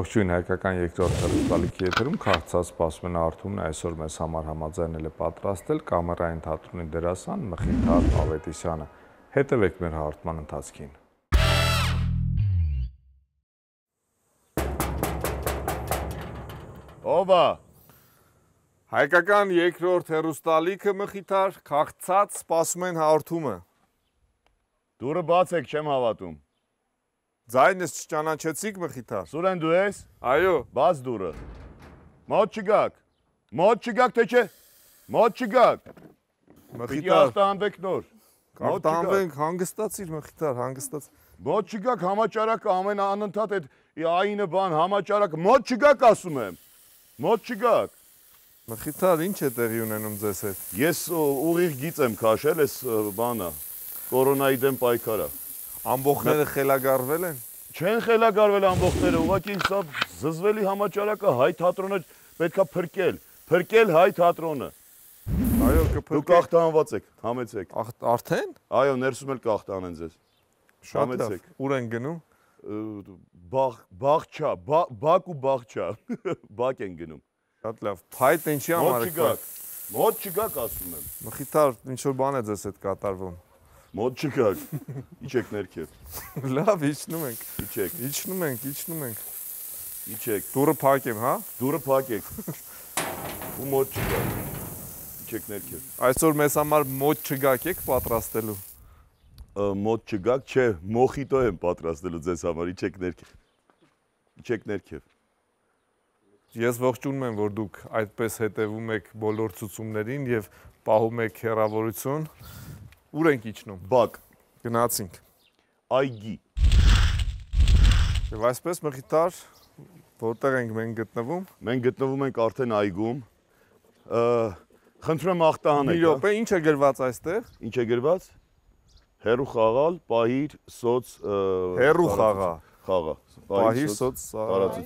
Ողջույն հայկական երկրորդ հեռուստալիքի եթերում քաղցած սպասում են Արթուրն այսօր մեզ համար համաձայնել է պատրաստել կամերային թատրոնի դերասան Մխիթար Ավետիսյանը։ Հետևեք մեր հաղորդման ընթացքին։ Ո՞վ է։ Հայկական երկրորդ հեռուստալիքը Մխիթար քաղցած սպասում են հաղորդումը։ Դուրը բաց եք, չեմ հավատում։ Ձայնս չճանաչեցիք Մխիթար։ Սուրեն դու ես։ Այո։ Բաց դուրը։ Մոտ չգաք։ Մոտ չգաք, թե չէ։ Մոտ չգաք։ Պիտի արտահանվեք նոր։ Արտահանվենք, հանգստացիր Մխիթար, հանգստաց։ Մոտ չգաք, համաճարակը ամեն անընդհատ այդ այնը բան, համաճարակը, մոտ չգաք ասում եմ։ Մոտ չգաք։ Մխիթար, ինչ է տեղի ունենում ձեզ հետ։ Ես ուղիղ գիծ եմ քաշել, այս բանը, կորոնայի դեմ պայքարը։ Ամբողջները խելագարվել են։ Չեն խելագարվել ամբողջները, ուղղակի սա զզվելի համաճարակը հայ թատրոնը պետքա փրկել հայ թատրոնը։ Այո, կփրկեք։ Դուք ախտահանված եք, համեցեք։ Արդեն։ Այո, ներսում էլ կախտանեն ձեզ։ Համեցեք։ Ուր են գնում։ Բաղչա, բակ ու բաղչա։ Բակ են գնում։ Շատ լավ։ Փայտ ինչի համար եք։ Մոտ չգաք ասում եմ։ Մխիթար, ինչ որ բան է ձեզ հետ կատարվում։ Մոտ չգաք։ Իջեք ներքև։ Լավ, իջնում ենք։ Իջեք։ Իջնում ենք։ Իջեք։ Դուրը փակեմ, հա։ Դուրը փակեք։ Ու մոտ չգաք։ Իջեք ներքև։ Այսօր մեզ համար մոտ չգաք եք պատրաստելու։ Մոտ չգաք, չէ, մոխիտո եմ պատրաստելու ձեզ համար, իջեք ներքև։ Ես ողջունում եմ, որ դուք այդպես հետևում եք բոլոր ցուցումներին եւ պահում եք հեռավորություն։ Ուր ենք իջնում։ Բակ։ Գնացինք։ Այգի։ Եվ այսպես Մխիթար, որտեղ ենք մենք գտնվում։ Մենք գտնվում ենք արդեն այգում։ Խնդրում եմ ախտահանեք։ Մի րոպե, ինչ է գրված այստեղ։ Ինչ է գրված։ Հերու խաղալ, պահիր, սոց Հերու խաղա։ Խաղա։ Պահիր, սոց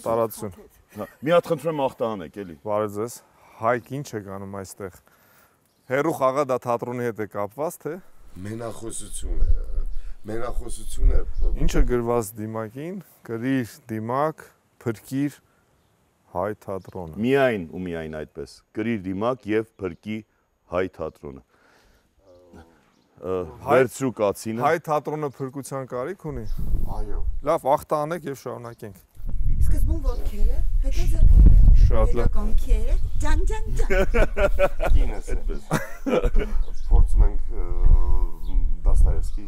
տարածություն։ Մի հատ խնդրում եմ ախտահանեք, էլի։ Բարև ձեզ։ Հայք ինչ է գանում այստեղ։ Հերու խաղա դա թատրոնի հետ է կապված, թե։ Մենախոսություն է։ Ինչը գրված դիմակին, գրիր դիմակ, փրկիր հայ թատրոնը։ Միայն ու միայն այդպես։ Գրիր դիմակ եւ փրկի հայ թատրոնը։ Վերցրու կացինը։ Հայ թատրոնը փրկության կարիք ունի։ Այո։ Լավ, ախտահանեք եւ շարունակենք։ Սկզբում ոտքերը, հետո ձեռքերը։ Շատ լավ։ Կոնքերը, ջան։ Կինս այդպես։ Փորձում ենք Դաստոևսկի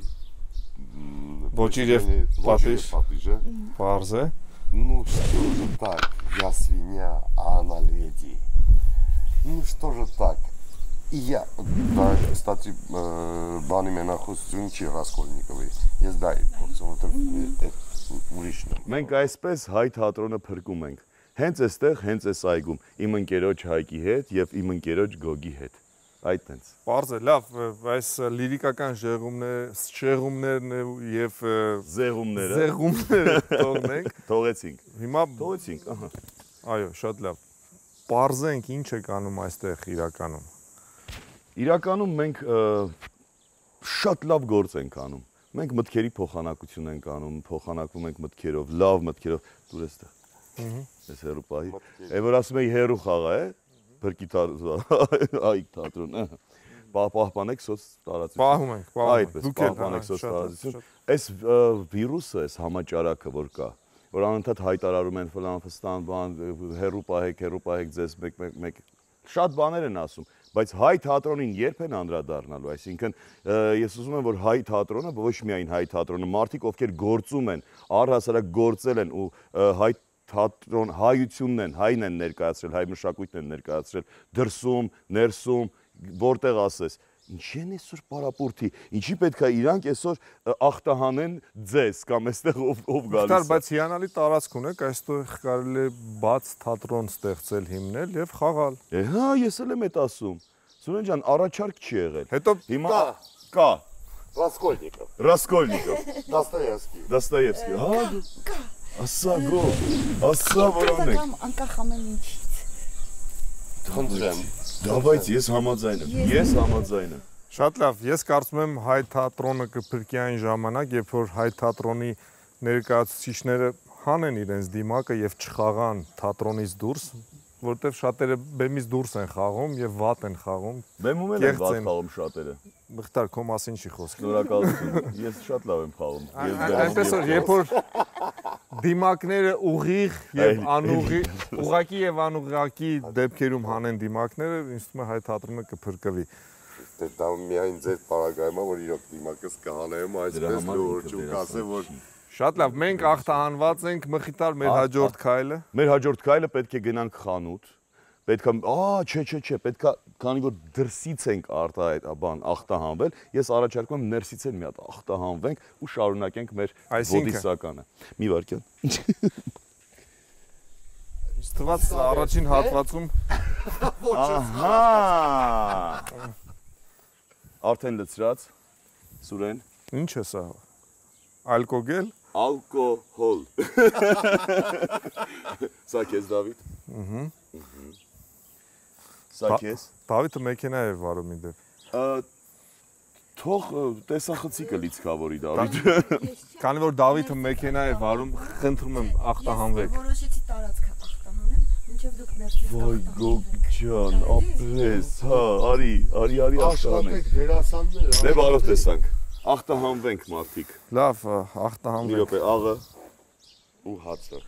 Ոչիր եւ պատիժը։ Պարզ է։ Ну что же так, я свинья, а она леди. Ну что же так. И я, да, кстати, բանի մենախոսություն չի Ռասկոլնիկովի։ Ես դա փորձում եմ ուրիշն։ Մենք այսպես հայ թատրոնը փրկում ենք։ Հենց այստեղ, հենց այս այգում, իմ ընկերոջ Հայկի հետ եւ իմ ընկերոջ Գոգի հետ։ Այդտենց։ Պարզ է, լավ, այս լիրիկական շեղումներն եւ զեղումները թողնենք։ Թողեցինք։ Հիմա Թողեցինք, ահա։ Այո, շատ լավ։ Պարզենք ինչ է կանում այստեղ իրականում։ Իրականում մենք շատ լավ գործ ենք անում։ Մենք մտքերի փոխանակություն ենք անում, փոխանակվում ենք մտքերով, լավ մտքերով, դուր էստեղ։ Այս հերու պահի։ Է որ ասում էի հերու խաղա է, փրկի այգ թատրոն, պահպանեք սոց տարածություն։ Պահում ենք։ Այդպես, պահպանեք սոց տարածություն։ Այս վիրուսը, այս համաճարակը որ կա, որ անընդհատ հայտարարում են ֆլան բան, հերու պահեք ձեզ մեկ շատ բաներ են ասում, բայց հայ թատրոնին երբ են անդրադառնալու, այսինքն ես ուզում եմ որ հայ թատրոնը, ոչ միայն հայ թատրոնը, մարդիկ ովքեր գործում են, առհասարակ գործել են ու հայ թատրոն հայությունն են, հայն են ներկայացրել, հայ մշակույթն են ներկայացրել, դրսում, ներսում, որտեղ ասես, ինչի են այսօր պարապուրդի, ինչի պետք է իրանք այսօր ախտահանեն ձեզ կամ այստեղ ով գալիս է։ Բայց հիանալի տարածք ունեք, այստեղ կարելի է բաց թատրոն ստեղծել, հիմնել եւ խաղալ։ Հա, ես էլ եմ այդ ասում։ Սուրեն ջան, առաջարկ չի եղել։ Հետո հիմա կա Ռասկոլնիկով, Դաստոևսկի, հա, ասա գո, ասա որոնք։ Անկախ ամեն ինչից։ Խնդրեմ։ Դավայց ես համաձայն եմ։ Շատ լավ, ես կարծում եմ հայ թատրոնը կփրկի այն ժամանակ, երբ որ հայ թատրոնի ներկայացուցիչները հանեն իրենց դիմակը եւ չխաղան թատրոնից դուրս, որտեվ շատերը բեմից դուրս են խաղում եւ վատ են խաղում։ Բեմում էլ են վատ խաղում շատերը։ Մխտար, քո մասին չի խոսքը։ Շնորհակալություն։ Ես շատ լավ եմ խաղում։ Այնպես որ երբ որ դիմակները ուղիղ եւ անուղիղ, ուղակի եւ անուղակի դեպքերում հանեն դիմակները, ինձ թվում է հայ թատրոնը կփրկվի։ Դա միայն ձեր պարագայում է, որ իրոք դիմակս կհանեմ այսպես լուրջ ու կասեմ, որ Շատ լավ, մենք աղթահանված ենք, Մխիթար, մեր հաջորդ քայլը։ Մեր հաջորդ քայլը պետք է գնանք խանութ։ Պետք է, չէ, պետք է, քանի որ դրսից ենք աղթահանվել, ես առաջարկում եմ ներսից էլ մի հատ աղթահանվենք ու շարունակենք մեր բոդիսականը։ Մի վարքյան։ Ստված առաջին հատվածում Ահա։ Արդեն լցրած, Սուրեն։ Ինչ է սա։ Ալկոգել։ Ալկոհոլ։ Սա քեզ Դավիթ։ Սա քեզ։ Դավիթը մեքենա է վարում իդեպ։ Թող տեսախցիկը լիցքավորի Դավիթը։ Քանի որ Դավիթը մեքենա է վարում, խնդրում եմ աղթահանվեք։ Որոշեցի տարածքը աղթահանեմ, մինչև դուք ներքև Ոյ գոգջան, ապրես, հա, արի աղթահանենք։ դերասաններ, Դե բարով տեսանք։ Աղթահանվենք մարդիկ։ Լավ, Մի աղթահանվեք։ րոպե, աղը ու հացը։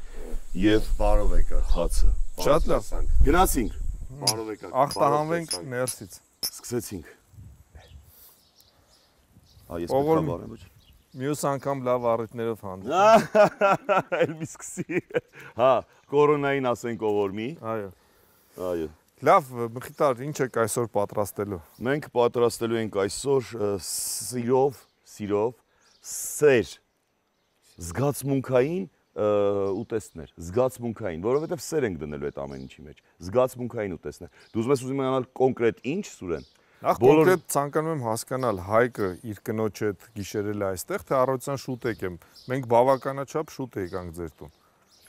եւ Բարով եկաք։ հացը։ Շատ լավ։ Գնացինք, Բարով եկաք։ Աղթահանվենք ներսից։ սկսեցինք։ Ես Ով պետք է բարեմ ոչ։ Մյուս անգամ լավ առիթներով հանդիպ։ Էլ մի սկսի։ Հա, կորոնային ասենք ով որ մի։ Այո։ Այո։ Լավ, Մխիթար, ինչ եք այսօր պատրաստելու։ Մենք պատրաստելու ենք այսօր սիրով, սեր, զգացմունքային ուտեստներ, զգացմունքային, որովհետև սեր ենք դնելու այդ ամեն ինչի մեջ, զգացմունքային ուտեստներ։ Դու ուզում ես իմանալ կոնկրետ ինչ, Սուրեն։ Նախ կոնկրետ ցանկանում եմ հասկանալ Հայկը իր կնոջ հետ գիշերել է այստեղ, թե առավոտյան շուտ եկեմ։ Մենք բավականաչափ շուտ եկանք ձեր տուն։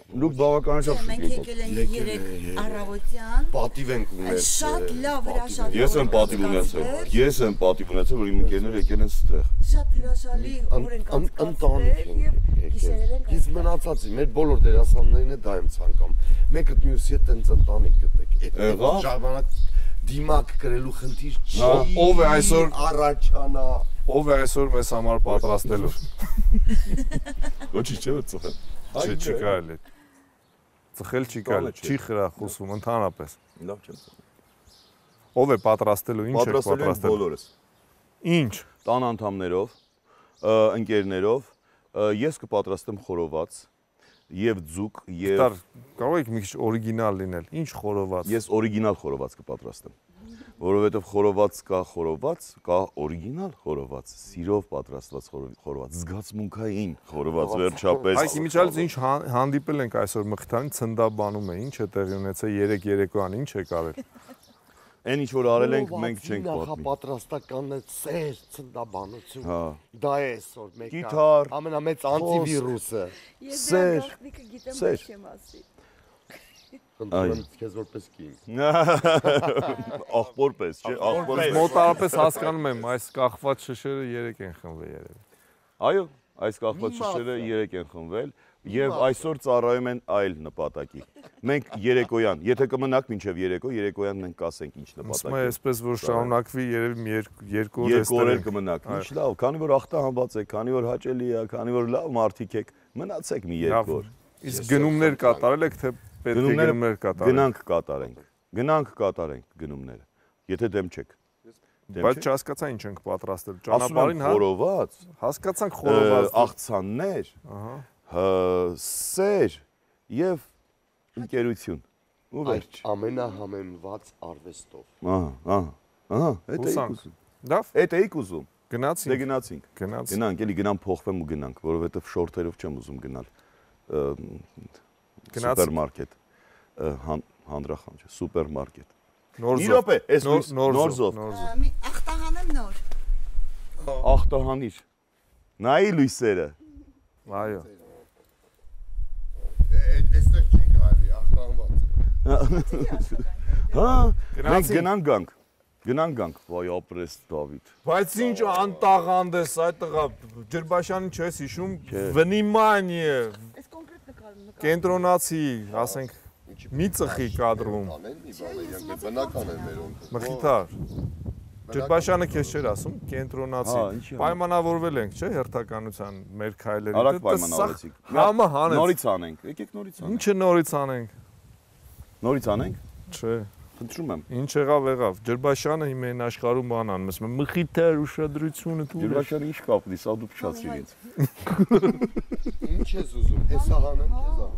Դուք բավականաչափ Մենք եկել ենք 3 առավոտյան։ Պատիվ ենք ունել։ Շատ լավ հրաշալի։ Ես եմ պատիվ ունեցել, որ իմ ընկերները եկել են ստեղ։ Շատ հրաշալի օր ենք Ընտանիք եւ ենք գիշերել ենք։ Իսկ մնացածի մեր բոլոր դերասաններին է դա եմ ցանկանում։ Մեկը մյուսի հետ տենց ընտանիք գտեք։ Եղավ։ Ժամանակ դիմակ գրելու խնդիր չի։ Ով է այսօր առաջանա։ Ով է այսօր մեզ համար պատրաստելու։ Ոչինչ չէ ծխել։ Չի կարելի։ Ծխել չի կարելի, չի խրախուսվում ընդհանրապես։ Լավ չեմ ծխել։ Ով է պատրաստելու, ինչ է Պատրաստել ենք պատրաստելու։ բոլորս։ Ինչ։ Տան անդամներով, ընկերներով, ես կպատրաստեմ խորոված եւ ձուկ եւ Տար, կարող եք մի քիչ օրիգինալ լինել։ Ինչ խորոված։ ես օրիգինալ խորոված կպատրաստեմ, որովհետեւ խորոված, կա օրիգինալ խորոված, սիրով պատրաստված խորոված, զգացմունքային խորոված վերջապես։ Այս իմիջիալից ինչ հանդիպել ենք այսօր Մխիթարին ցնդաբանում է, ինչ է տեղի ունեցել 3 երեկոյան, ինչ է կարել։ Այն ինչ որ արել ենք, մենք չենք պատմի։ Նախապատրաստականն է սեր, ցնդաբանություն։ Հա։ Դա է այսօր մեկ Գիտար, ամենամեծ անտիվիրուսը։ Ես Սեր, դրա գաղտնիքը գիտեմ, սեր։ բայց չեմ ասի։ Խնդրում եմ քեզ որպես կին։ աղբորպես, չէ, աղբորպես։ Մոտարապես հասկանում եմ, այս կախված շշերը 3 են խմվել երևի։ Այո, այս կախված շշերը 3 են խմվել եւ այսօր ծառայում են այլ նպատակի։ Մենք երեկոյան, եթե կմնաք մինչեւ երեկոյան մենք կասենք ինչ Ասում նպատակ է, է։ այսպես որ շարունակվի երևի 2 օր Երկու օր էստեղ։ կմնաք։ Ինչ լավ, քանի որ ախտահանված եք, քանի որ հաճելի է, քանի որ լավ մարդիկ եք, մնացեք մի 2 օր։ Իսկ գնումներ կատարել եք, թե պետք է գնումներ կատարել։ Գնանք կատարենք գնումները։ Եթե դեմ չեք։ Բայց չհասկացա ինչ ենք պատրաստել։ Ասում եմ Ճանապարհին հա։ խորոված, Հասկացանք խորոված։ աղցաններ, սեր եւ ընկերություն։ Ու վերջ։ Ամենահամեմված արվեստով։ Ահա, այդ էիք ուզում։ Լավ, Այդ էիք ուզում։ գնացինք։ Դե գնացինք։ Գնանք, էլի գնամ փոխվեմ ու գնանք, որովհետեւ շորթերով չեմ ուզում գնալ։ Սուպերմարկետ։ Հանդրախան չէ, սուպերմարկետ։ Նոր Մի րոպե, այս նորզով։ Մի աղթահանեմ նոր։ Ախտահանիր։ Նայի լույսերը։ Այո։ Այստեղ չի կարելի, ախտանված։ Հա, մենք գնանք գանք, վայ ապրես Դավիթ։ Բայց ինչ անտաղանդ ես այդ տղա, Ջրբաշյանին չես հիշում, վնիմանիե։ Այս կոնկրետ նկարն կենտրոնացի, ասենք, մի ծխի կադրում։ Բնական է մերոնք։ Մխիթար։ Ջրբաշյանը քեզ չէր ասում, կենտրոնացի։ Պայմանավորվել ենք, չէ՞, հերթականության մեր քայլերի։ Արագ պայմանավորեցիք։ Համը հանեց։ Նորից անենք, եկեք նորից անենք։ Ինչը նորից անենք։ Նորից անենք։ Չէ։ Խնդրում եմ։ Ինչ եղավ։ Ջրբաշյանը հիմա այն աշխարհում բան անում, ասում է մխիթար ուշադրությունը դու։ Ջրբաշյանը ինչ կապ ունի, սա դու փչացիր ինձ։ Ինչ ես ուզում, հեսա հանեմ քեզ ա։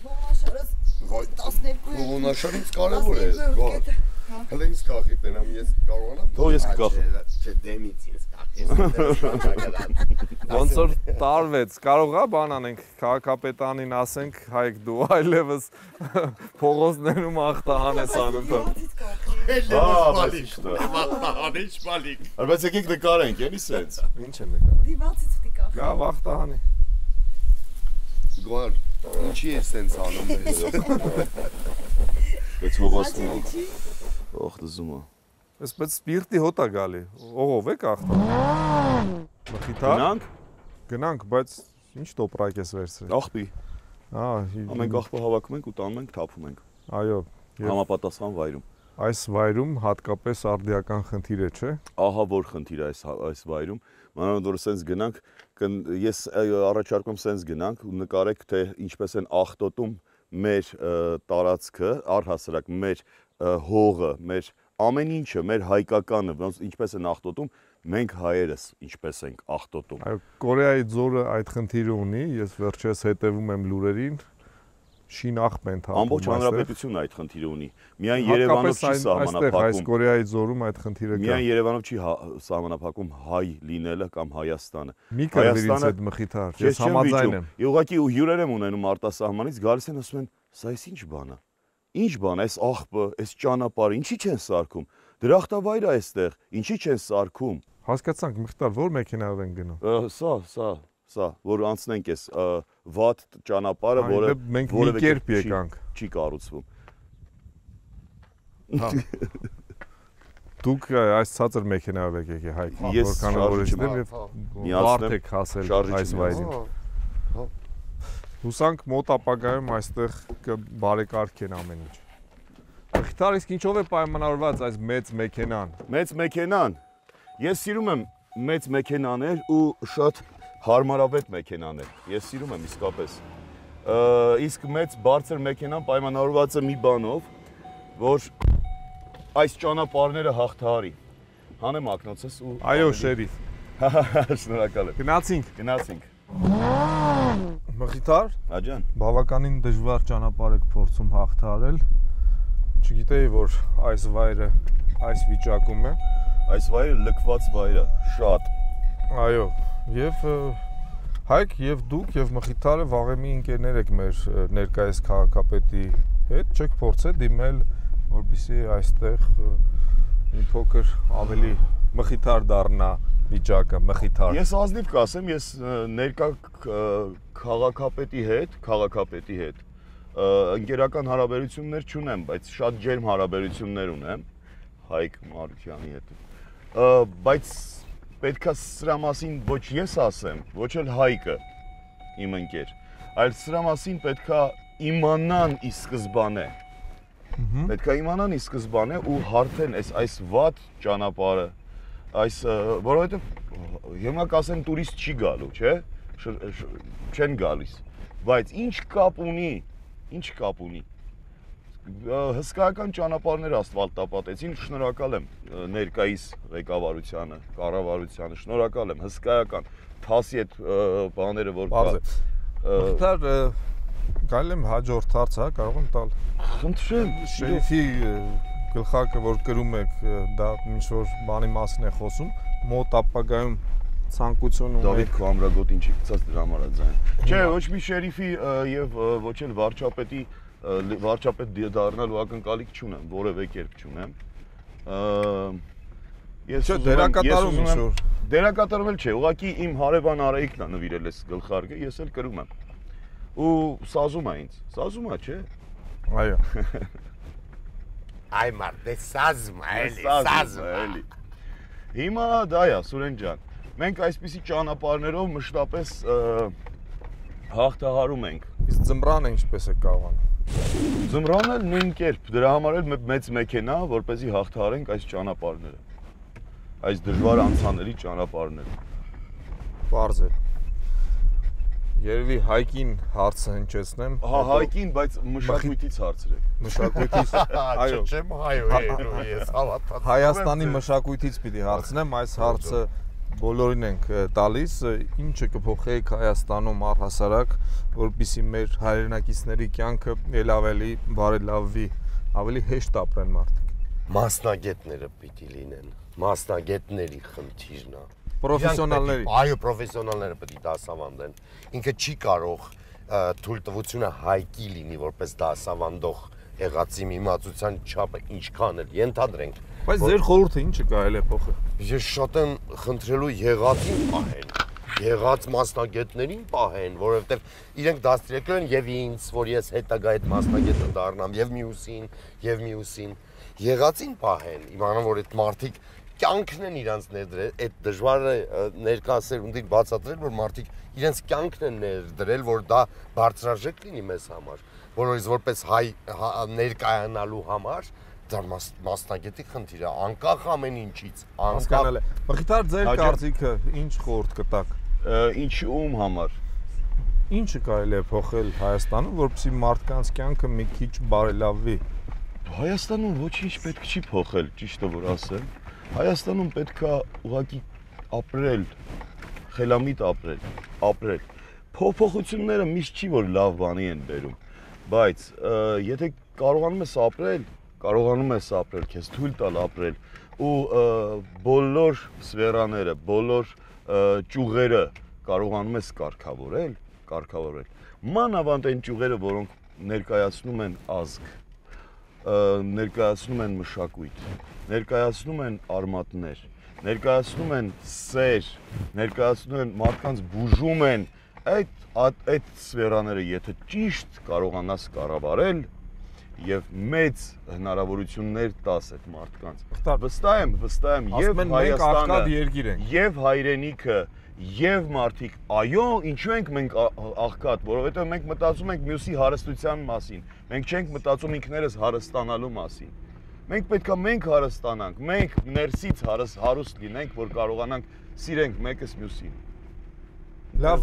Ողնաշարս 12 Ողնաշարից կարևոր է, գոհ։ Հələ ինձ կախի տենամ, ես կարողանամ։ Թող ես կկախեմ։ Չէ, դեմից ինձ կախի։ Ոնց որ տարվեց, կարող է բան անենք, քաղաքապետանին ասենք, Հայկ դու այլևս փողոցներում ախտահան ես անում։ Ախտահանիչ բալիկ։ Բայց եկեք նկարենք, էլի սենց։ Ինչ է նկարը։ Դիվացից պիտի կախ։ Գավ ախտահանի։ Գոհ, ինչի ես սենց անում ես։ Բայց հովասն է։ Ող դզումա։ Այսպես սպիրտի հոտ է գալի։ Ողով եք ախտահան։ Մխիթար։ Գնանք, բայց ինչ տոպրակ ես վերցրել։ Աղբի։ Մենք աղբը հավաքում ենք ու տանում ենք, թափում ենք։ Այո, Համապատասխան վայրում։ այս վայրում հատկապես արդիական խնդիր է, չէ։ Ահա որ խնդիր է այս վայրում։ Մանավանդ որ սենց գնանք, ես առաջարկում սենց գնանք ու նկարեք թե ինչպես են աղտոտում մեր տարածքը, առհասարակ մեր հողը, մեր ամեն ինչը, մեր հայկականը, ինչպես են աղտոտում, մենք հայերս ինչպես ենք աղտոտում։ Այո, Կորեայի ձորը այդ խնդիրը ունի, ես վերջերս հետևում եմ լուրերին, շինախ են թափում։ Ամբողջ հանրապետությունը այդ խնդիրը ունի։ Միայն Երևանով չի սահմանափակում։ Այս Կորեայի ձորում այդ խնդիրը կա։ Միայն Երևանով չի սահմանափակում հայ լինելը կամ Հայաստանը։ Մի կրվիր ինձ այդ մխիթար, ես համաձայն եմ։ Ուղղակի հյուրեր եմ ունենում արտասահմանից, գալիս են ասում են, սա էս ինչ բան է։ Ինչ բան է, այս աղբը, այս ճանապարհը, ինչի չեն սարքում։ Դրախտավայր է այստեղ, ինչի չեն սարքում։ Հասկացանք, Մխիթար, ո՞ր մեքենայով են գնում։ Սա, որ անցնենք այս վատ ճանապարհը, որը մենք մի կերպ եկանք։ Չի կառուցվում։ Դուք այս ցածր մեքենայով եք եկել Հայկ, որքան որ եմ եւ բարդ եք հասել այս վայրին։ Հուսանք մոտ ապագայում այստեղ կբարեկարգեն ամեն ինչ։ Մխիթար, իսկ ինչով է պայմանավորված այս մեծ մեքենան։ Մեծ մեքենան։ Ես սիրում եմ մեծ մեքենաներ ու շատ հարմարավետ մեքենաներ։ Ես սիրում եմ իսկապես։ Իսկ մեծ բարձր մեքենան պայմանավորված է մի բանով, որ այս ճանապարհները հաղթահարի։ Հանեմ ակնոցս ու Այո, շերիֆ։ Շնորհակալ եմ։ Գնացինք։ Մխիթար, Աջան, բավականին դժվար ճանապարհ եք փորձում հաղթահարել։ Չգիտեի, որ այս վայրը այս վիճակում է։ Այս վայրը լքված վայր է, շատ։ Այո, եւ Հայկ եւ դուք եւ Մխիթարը վաղեմի ընկերներ եք մեր ներկայիս քաղաքապետի հետ, չեք փորձել դիմել, որպեսզի այստեղ մի փոքր ավելի Մխիթար դառնա վիճակը, Մխիթար։ Ես ազնիվ կասեմ, ես ներկա քաղաքապետի հետ ընկերական հարաբերություններ չունեմ, բայց շատ ջերմ հարաբերություններ ունեմ Հայկ Մարությանի հետ։ Բայց պետքա սրա մասին ոչ ես ասեմ, ոչ էլ Հայկը իմ ընկեր, այլ սրա մասին պետքա իմանան ի սկզբանե։ Պետքա իմանան ի սկզբանե ու հարթեն այս վատ ճանապարհը, որովհետև հիմա կասեն տուրիստ չի գալու, չէ՞, չեն գալիս, բայց ինչ կապ ունի, հսկայական ճանապարհներ ասֆալտապատեցին, շնորհակալ եմ ներկայիս ղեկավարությանը, կառավարությանը, շնորհակալ եմ, հսկայական թասի այդ բաները որ կա։ Մխիթար, գալի եմ հաջորդ հարց, հա, կարող եմ տալ։ Խնդրեմ, Շերիֆի գլխարկը որ կրում եք, դա ինչ որ բանի մասին է խոսում, մոտ ապագայում ցանկություն ունեք։ Դավիթ քո ամրագոտին չի գցած դրա համար է ձայն։ Չէ, ոչ մի շերիֆի եւ ոչ էլ վարչապետ դառնալու ակնկալիք չունեմ, որևէ կերպ չունեմ։ Ես դերակատարում ինչ որ դերակատարում էլ չէ, ուղղակի իմ հարևան Արայիկն է նվիրել այս գլխարկը, ես էլ կրում եմ։ Ու սազում է ինձ, չէ։ Այո։ Այ մարդ, դե սազում է, Հիմա դա է, Սուրեն ջան։ Մենք այսպիսի ճանապարհներով մշտապես հաղթահարում ենք Իսկ ձմռանը ինչպես է կարողանում։ Ձմռանը նույն կերպ, դրա համար էլ մեծ մեքենա, որպեսզի հաղթահարենք այս ճանապարհները։ Այս դժվար անցանելի ճանապարհները։ Պարզ է։ Երևի Հայկին հարցը հնչեցնեմ։ Հա, Հայկին, բայց մշակույթից հարցրեք։ Մշակույթից, այո։ Չեմ հայո ես հավատացել։ Հայաստանի մշակույթից պիտի հարցնեմ, այս հարցը բոլորին ենք տալիս, ինչը կփոխեիք Հայաստանում առհասարակ, որպեսզի մեր հայրենակիցների կյանքը ել ավելի բարելավվի, ավելի հեշտ ապրեն մարդիկ։ Մասնագետները պիտի լինեն, մասնագետների խնդիրն է։ Պրոֆեսիոնալների։ Այո, պրոֆեսիոնալները պետք է դասավանդեն։ Ինքը չի կարող թույլտվությունը Հայկի լինի որպես դասավանդող եղածի իմացության չափը ինչքան էլ ենթադրենք։ Բայց ձեր խորհուրդը ինչը կարելի է փոխել։ Ես շատ եմ խնդրելու եղածին պահեն, եղած մասնագետներին պահեն, որովհետև իրենք դաստիարակել են եւ ինձ, որ ես հետագա այդ մասնագետը դառնամ, եւ մյուսին, եղածին պահեն, իմանան, որ այդ մարդիկ կյանքն են իրանց ներդրել, այդ դժվար է ներկայացրել բացատրել, որ մարդիկ իրենց կյանքն են ներդրել, որ դա բարձրաժեք լինի մեզ համար, որովհետև որպես հայ ներկայանալու համար դա մասնագետի խնդիր է, անկախ ամեն ինչից, Հասկանալ է։ Մխիթար, ձեր կարծիքը ինչ խորհուրդ կտաք։ Ում համար։ Ինչը կարելի է փոխել Հայաստանում, որպեսզի մարդկանց կյանքը մի քիչ բարելավվի։ Հայաստանում ոչինչ պետք չի փոխել, ճիշտը որ ասեմ։ Հայաստանում պետք է ուղղակի ապրել, խելամիտ ապրել։ Փոփոխությունները միշտ չի որ լավ բանի են բերում, բայց եթե կարողանում ես ապրել, քեզ թույլ տալ ապրել ու բոլոր սֆերաները, բոլոր ճյուղերը կարողանում ես կարգավորել։ Մանավանդ այն ճյուղերը, որոնք ներկայացնում են ազգ, ներկայացնում են մշակույթ, ներկայացնում են արմատներ, ներկայացնում են սեր, ներկայացնում են մարդկանց բուժում են, այդ սֆերաները եթե ճիշտ կարողանաս կառավարել եւ մեծ հնարավորություններ տաս այդ մարդկանց։ Վստահ եմ եւ Հայաստանը եւ հայրենիքը եւ մարդիկ, այո, ինչու ենք մենք աղքատ, որովհետեւ մենք մտածում ենք մյուսի հարստության մասին, մենք չենք մտածում ինքներս հարստանալու մասին։ Մենք պետք է հարստանանք, մենք ներսից հարուստ լինենք, որ կարողանանք սիրենք մեկս մյուսին։ Լավ,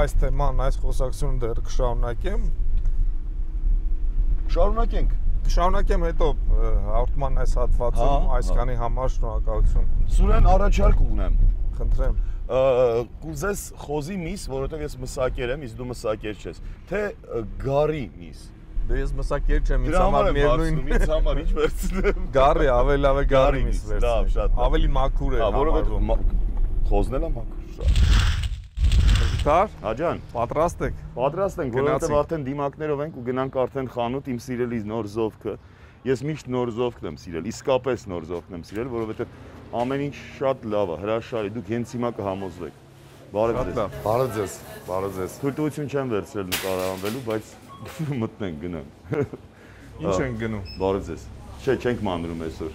այս թեման, այս խոսակցությունը դեռ կշարունակեմ։ Շարունակեմ հետո հաղորդման այս հատվածում, այսքանի համար շնորհակալություն։ Սուրեն առաջարկ ունեմ։ Խնդրեմ։ Կուզես խոզի միս, որովհետև ես մսակեր եմ, իսկ դու մսակեր չես, թե գարի միս։ Դե ես մսակեր չեմ, ինձ համար միևնույն։ Ինձ համար ինչ վերցնեմ։ Գարի, ավելի լավ է գարի միս վերցնեմ։ Լավ, շատ լավ։ Ավելի մաքուր է։ Որովհետև խոզն էլ է մաքուր շատ։ Մխիթար, Աջան, պատրաստ եք։ Պատրաստ ենք, որովհետև արդեն դիմակներով ենք ու գնանք արդեն խանութ իմ սիրելի նոր զովքը։ Ես միշտ նոր զովքն եմ սիրել, իսկապես նոր զովքն եմ սիրել, որովհետև ամեն ինչ շատ լավ է, հրաշալի, դուք հենց հիմա կհամոզվեք։ Բարև ձեզ։ Բարև ձեզ։ Թույլտվություն չեմ վերցրել նկարահանվելու, բայց մտնենք գնանք։ Ինչ ենք գնում։ Բարև ձեզ։ Չէ, չենք մանրում այսօր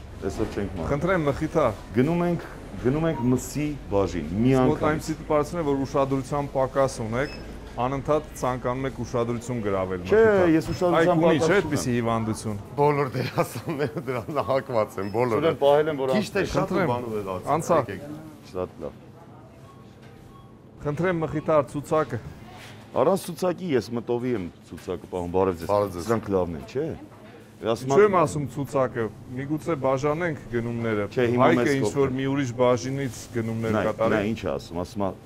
չենք մանրում։ Խնդրեմ, Մխիթար։ Գնում ենք մսի բաժին, մի անգամ։ Մոտայմսի տպարացնում է, որ ուշադրության պակաս ունեք, անընդհատ ցանկանում եք ուշադրություն գրավել Մխիթար։ Չէ, ես ուշադրության պակաս չունեմ։ Չէ, այդպիսի հիվանդություն։ Բոլոր դերասանները դրան հակված են, բոլորը։ Սուրեն պահել են, որ Քիչ թե շատ բանով է լացել։ Անցա։ Շատ լավ։ Խնդրեմ, Մխիթար, ցուցակը։ Առանց ցուցակի ես մտովի եմ ցուցակը պահում, բարև ձեզ։ Սրանք լավն են, չէ՞։ Չեմ ասում ցուցակը, միգուցե բաժանենք գնումները։ Հայկը ինչ որ մի ուրիշ բաժինից գնումներ կատարի։ Նա ինչ է ասում,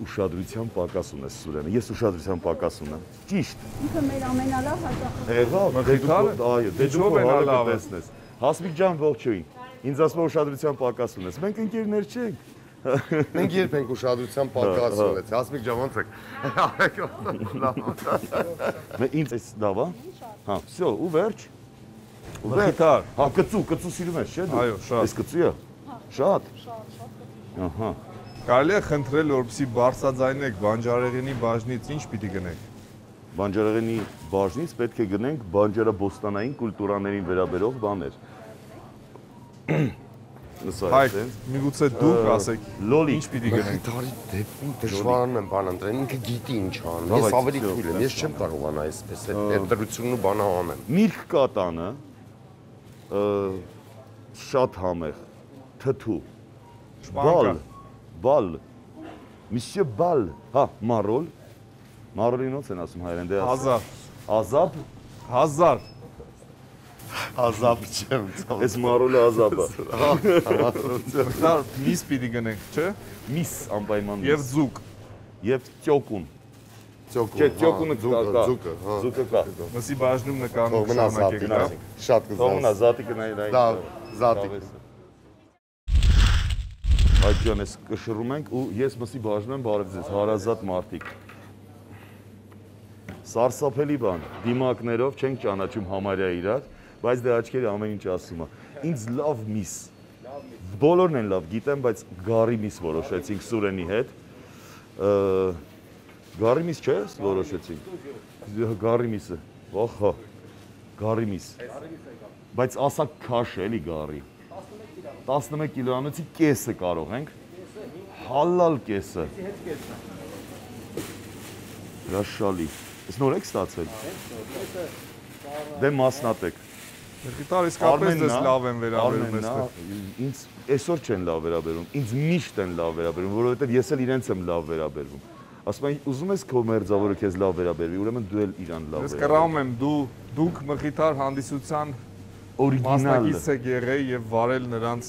ուշադրության պակաս ունես Սուրենը։ Ես ուշադրության պակաս ունեմ։ Ճիշտ։ Ինքը մեր ամենալավ հաճախ։ Եղավ, այո, դե դու հալը տեսնես։ Հասմիկ ջան, ողջույն։ Ինձ ասում ուշադրության պակաս ունես։ Մենք ընկերներ չենք։ Մենք երբ ենք ուշադրության պակաս ունեցել, Հասմիկ ջան, ոնց եք։ Ինձ էս լավ է։ Հա, всё, ու վերջ։ Մխիթար։ Հա, կծու սիրում ես, չէ՞ դու։ Այո, շատ։ Այս կծու է։ Շատ։ Ահա։ Կարելի է խնդրել, որպեսզի բարձրաձայնեք բանջարեղենի բաժնից ինչ պիտի գնեք։ Բանջարեղենի բաժնից պետք է գնենք բանջարաբոստանային կուլտուրաներին վերաբերող բաներ։ Հայք, միգուցե դուք ասեք, լոլիկ ինչ պիտի գնենք։ Մխիթարի դեպքում դժվարանում եմ բան ընտրել, ինքը գիտի ինչ անում։ Ես ավելի թույլ եմ, ես չեմ կարողանա այսպես այդ դրությունն ու բանը անեմ։ Միրգ կա տանը, շատ համեղ, թթու, բալ, Monsieur Bal, հա, մարոլ, մարոլին ոնց են ասում հայերեն, դե ազապ, Ազապ չեմ ցավ։ Այս մարոլը ազապը։ Մխիթար, միս պիտի գնենք, չէ։ Միս անպայման Եվ զուկ։ Եվ ճոկուն։ Չէ, ճոկունը կա։ Զուկը կա։ Մսի բաժնում նկարում Մնաս շարունակենք, հա։ շատ կզաս։ Թողնա զատիկը նայ։ Դա զատիկ։ Այդ ջան, ես կշռում ենք ու ես մսի բաժնում եմ բարև ձեզ, հարազատ մարդիկ։ Սարսափելի բան, դիմակներով չենք ճանաչում համարյա իրար, բայց դե աչքերը ամեն ինչ ասում է։ Ինձ լավ միս։ Բոլորն են լավ գիտեմ, բայց գարի միս որոշեցինք Սուրենի հետ։ Գարի միս չէ՞ որոշեցինք։ Գարի միսը։ Ոխա։ Գարի միս։ Բայց ասա քաշ էլի գարի։ 11 կիլոգրամի կեսը կարող ենք։ Հալալ կեսը։ Հրաշալի։ Ես նոր եք ստացել։ Դե մասնատեք։ Մխիթար, իսկապես դες լավ են վերաբերում այստեղ։ Ինձ այսօր չեն լավ վերաբերում, ինձ միշտ են լավ վերաբերում, որովհետև ես էլ իրենց եմ լավ վերաբերվում։ Ասում են, ուզում ես քո մերձավորը քեզ լավ վերաբերվի, ուրեմն դու էլ իրան լավ Ես վերաբերվի։ կռահում եմ, դուք Մխիթար հանդիսության մասնակից եք եղել եւ վարել նրանց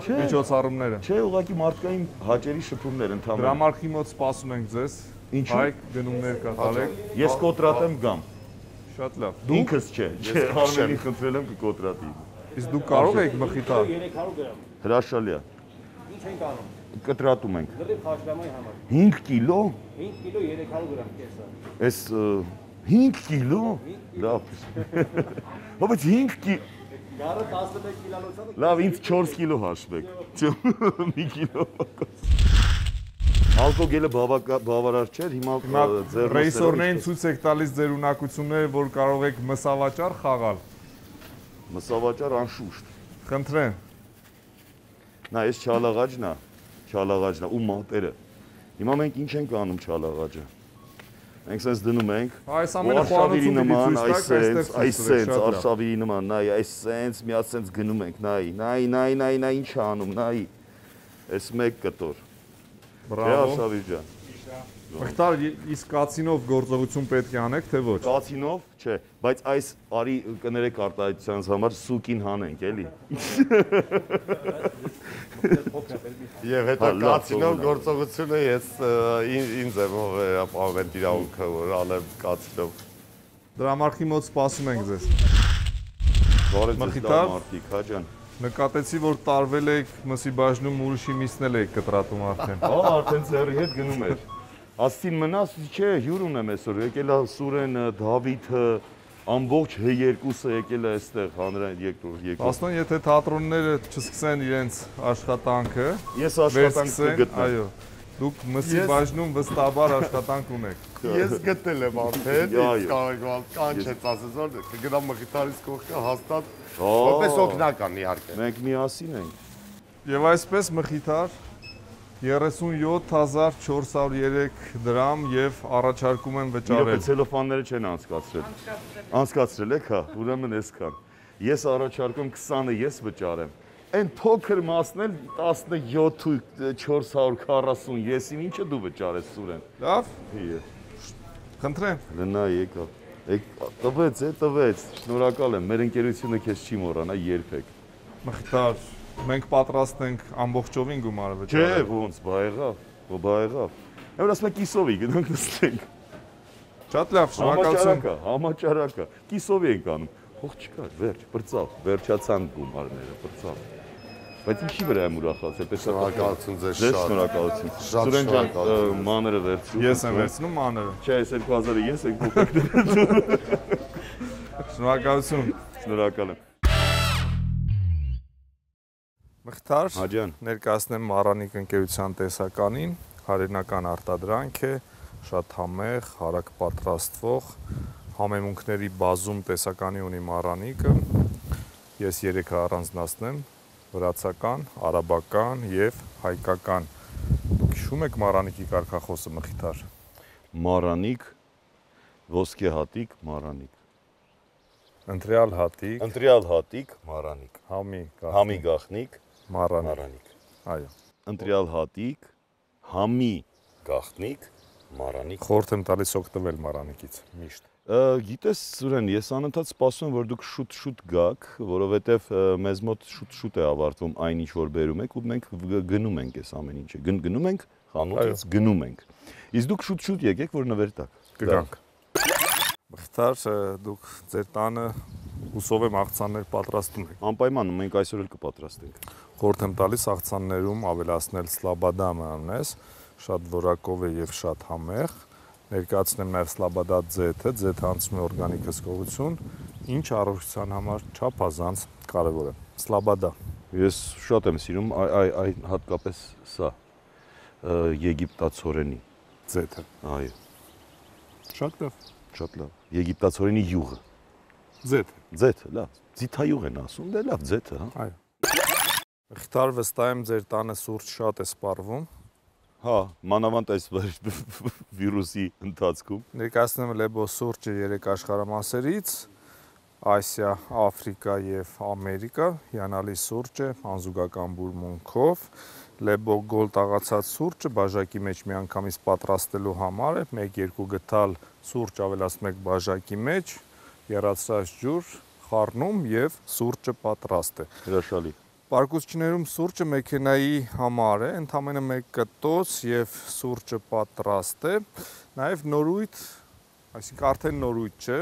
միջոցառումները։ Չէ, ուղղակի մարդկային հաճելի շփումներ ընդհանրապես։ Դրամարկղի մոտ սպասում ենք ձեզ։ Ինչու՞։ Հայք գնումներ կատարեք։ Ես կոտրատեմ գամ։ Շատ լավ։ Ինքս չէ, չէ, Արմենին խնդրել եմ կկոտրատի։ Իսկ դուք կարող եք Մխիթար։ 300 գրամ։ Հրաշալի է։ Ինչ ենք անում։ Կտրատում ենք։ Լրիվ խաշլամայի համար։ 5 կիլո։ 5 կիլո 300 գրամ կեսը։ Այս 5 կիլո։ Լավ։ Բայց 5 կիլո։ Գարը 11 կիլոանոցը։ Լավ, ինձ 4 կիլո հաշվեք։ Մի կիլո։ Ալկոգելը բավարար չէր, հիմա ձեռնոցներով ռեյսորներին ցույց եք տալիս ձեր ունակությունները, որ կարող եք մսավաճառ խաղալ։ մսավաճառ անշուշտ։ Խնդրեմ։ Նա այս չալաղաջն է ու մատերը։ Հիմա մենք ինչ ենք անում չալաղաջը։ Մենք sense դնում ենք։ Այս ամենը խոհանոցում նման, այստեղ այսպես արշավի նման, նայ, այս sense միած sense գնում ենք, նայ, ինչ անում, նայ։ Այս մեկ կտոր։ Բրավո։ Արշավի ջան։ Մխիթար, իսկ կացինով գործողություն պետք է անեք, թե ոչ։ Կացինով, չէ, բայց այս արի կներեք արտահայտությանս համար սուկին հանենք, էլի։ Եվ հետո կացինով գործողությունը ես ինձ եմ վերապահում իրավունքը, որ անեմ կացինով։ Դրամարկղի մոտ սպասում ենք ձեզ։ Բարև ձեզ Մխիթար։ մարդիկ, հա ջան։ Նկատեցի, որ տարվել եք մսի բաժնում ուրիշի միսնել եք կտրատում արդեն։ Արդեն ծերի հետ գնում էր։ Աստին մնաս, չէ, հյուր ունեմ այսօր, եկել է Սուրեն, Դավիթը, ամբողջ H2-ը եկել է այստեղ հանրային երկրորդ։ Ասնոն, եթե թատրոնները չսկսեն իրենց աշխատանքը, Ես աշխատանք կգտնեմ։ այո, դուք մսի բաժնում վստահաբար աշխատանք ունեք։ Ես գտել եմ արդեն, ինձ կարող կանչեց ասես որ կգնամ Մխիթարից կողքը հաստատ որպես օգնական իհարկե։ Մենք միասին ենք։ Եվ այսպես Մխիթար 37403 դրամ եւ առաջարկում եմ վճարել։ Իրոք ցելոֆանները չեն անցկացրել։ Անցկացրել եք, հա, ուրեմն այսքան։ Ես առաջարկում 20-ը ես վճարեմ։ Այն փոքր մասն էլ 17.440 եսին ինչը դու վճարես Սուրեն։ Լավ։ Հիե։ Խնդրեմ։ Լնա եկա։ Տվեց, տվեց։ Շնորհակալ եմ։ Մեր ընկերությունը քեզ չի մոռանա երբեք։ Մխիթար, մենք պատրաստ ենք ամբողջովին գումարը Չէ, վճարել։ ոնց, բա եղավ։ Եվ ասում եք կիսովի գնանք նստենք։ Շատ լավ, շնորհակալություն։ Համաճարակա։ Կիսովի ենք անում։ Փող չկար, վերջ, բրծավ, վերջացան գումարները, բրծավ։ Բայց ինչի վրա եմ ուրախացել, պես Շնորհակալություն ձեզ Ձեզ շատ։ շնորհակալություն։ Շատ Սուրեն ջան, շնորհակալություն։ մաները վերցրու։ Ես եմ վերցնում մաները։ Չէ, այս 2000-ը ես եք փոքր։ Շնորհակալություն։ Շնորհակալ եմ։ Մխիթար, Հա ջան։ ներկայացնեմ Մարանիկ ընկերության տեսականին, հայրենական արտադրանք է, շատ համեղ, հարակ պատրաստվող, համեմունքների բազում տեսականի ունի Մարանիկը։ Ես 3-ը առանձնացնեմ, վրացական, արաբական եւ հայկական։ Դուք հիշում եք Մարանիկի կարգախոսը Մխիթար։ Մարանիկ, ոսկե հատիկ, մարանիկ։ Ընտրյալ հատիկ, Ընտրյալ հատիկ, մարանիկ։ համի գախնիկ, մարանիկ։ Այո։ Ընտրյալ հատիկ, համի գախնիկ, մարանիկ։ Խորհուրդ եմ տալիս օգտվել Մարանիկից միշտ։ Գիտես, Սուրեն, ես անընդհատ սպասում եմ, որ դուք շուտ գաք, որովհետև մեզ մոտ շուտ է ավարտվում այն ինչ որ բերում եք ու մենք գնում ենք այս ամեն ինչը։ Գնում ենք խանութից, գնում ենք։ Իսկ դուք շուտ եկեք, որ նվեր տաք։ Կգանք։ Մխիթար, դուք ձեր տանը հուսով եմ աղցաններ պատրաստում եք։ Անպայման մենք այսօր էլ կպատրաստենք։ Խորհուրդ եմ տալիս աղցաններում ավելացնել սլաբադա մայոնեզ, շատ որակով է եւ շատ համեղ։ Ներկայացնեմ նաև սլաբադա ձեթը, ձեթը անցնում է օրգանիկ հսկողություն, ինչ առողջության համար չափազանց կարևոր է։ Սլաբադա։ Ես շատ եմ սիրում այն հատկապես սա եգիպտացորենի ձեթը։ Այո։ Շատ լավ։ Շատ լավ։ Եգիպտացորենի յուղը։ Ձեթը, լավ։ Ձիթայուղ են ասում, դե լավ, ձեթը, հա։ Այո։ Մխիթար, վստահ եմ ձեր տանը սուրճ շատ է սպառվում։ Հա, մանավանդ այս վիրուսի ընթացքում։ Ներկայացնեմ Լեբո սուրճը 3 աշխարհամասերից՝ Ասիա, Աֆրիկա եւ Ամերիկա, հիանալի սուրճ է, անզուգական բուրմունքով։ Լեբո գոլ տաղացած սուրճը բաժակի մեջ միանգամից պատրաստելու համար է, 1-2 գթալ սուրճ ավելացնում եք բաժակի մեջ, եռացրած ջուր, խառնում եւ սուրճը պատրաստ է։ Հրաշալի։ Պարկուսչիներում սուրճը մեքենայի համար է, ընդամենը 1 կտոց եւ սուրճը պատրաստ է։ Նաեւ նորույթ, այսինքն արդեն նորույթ չէ,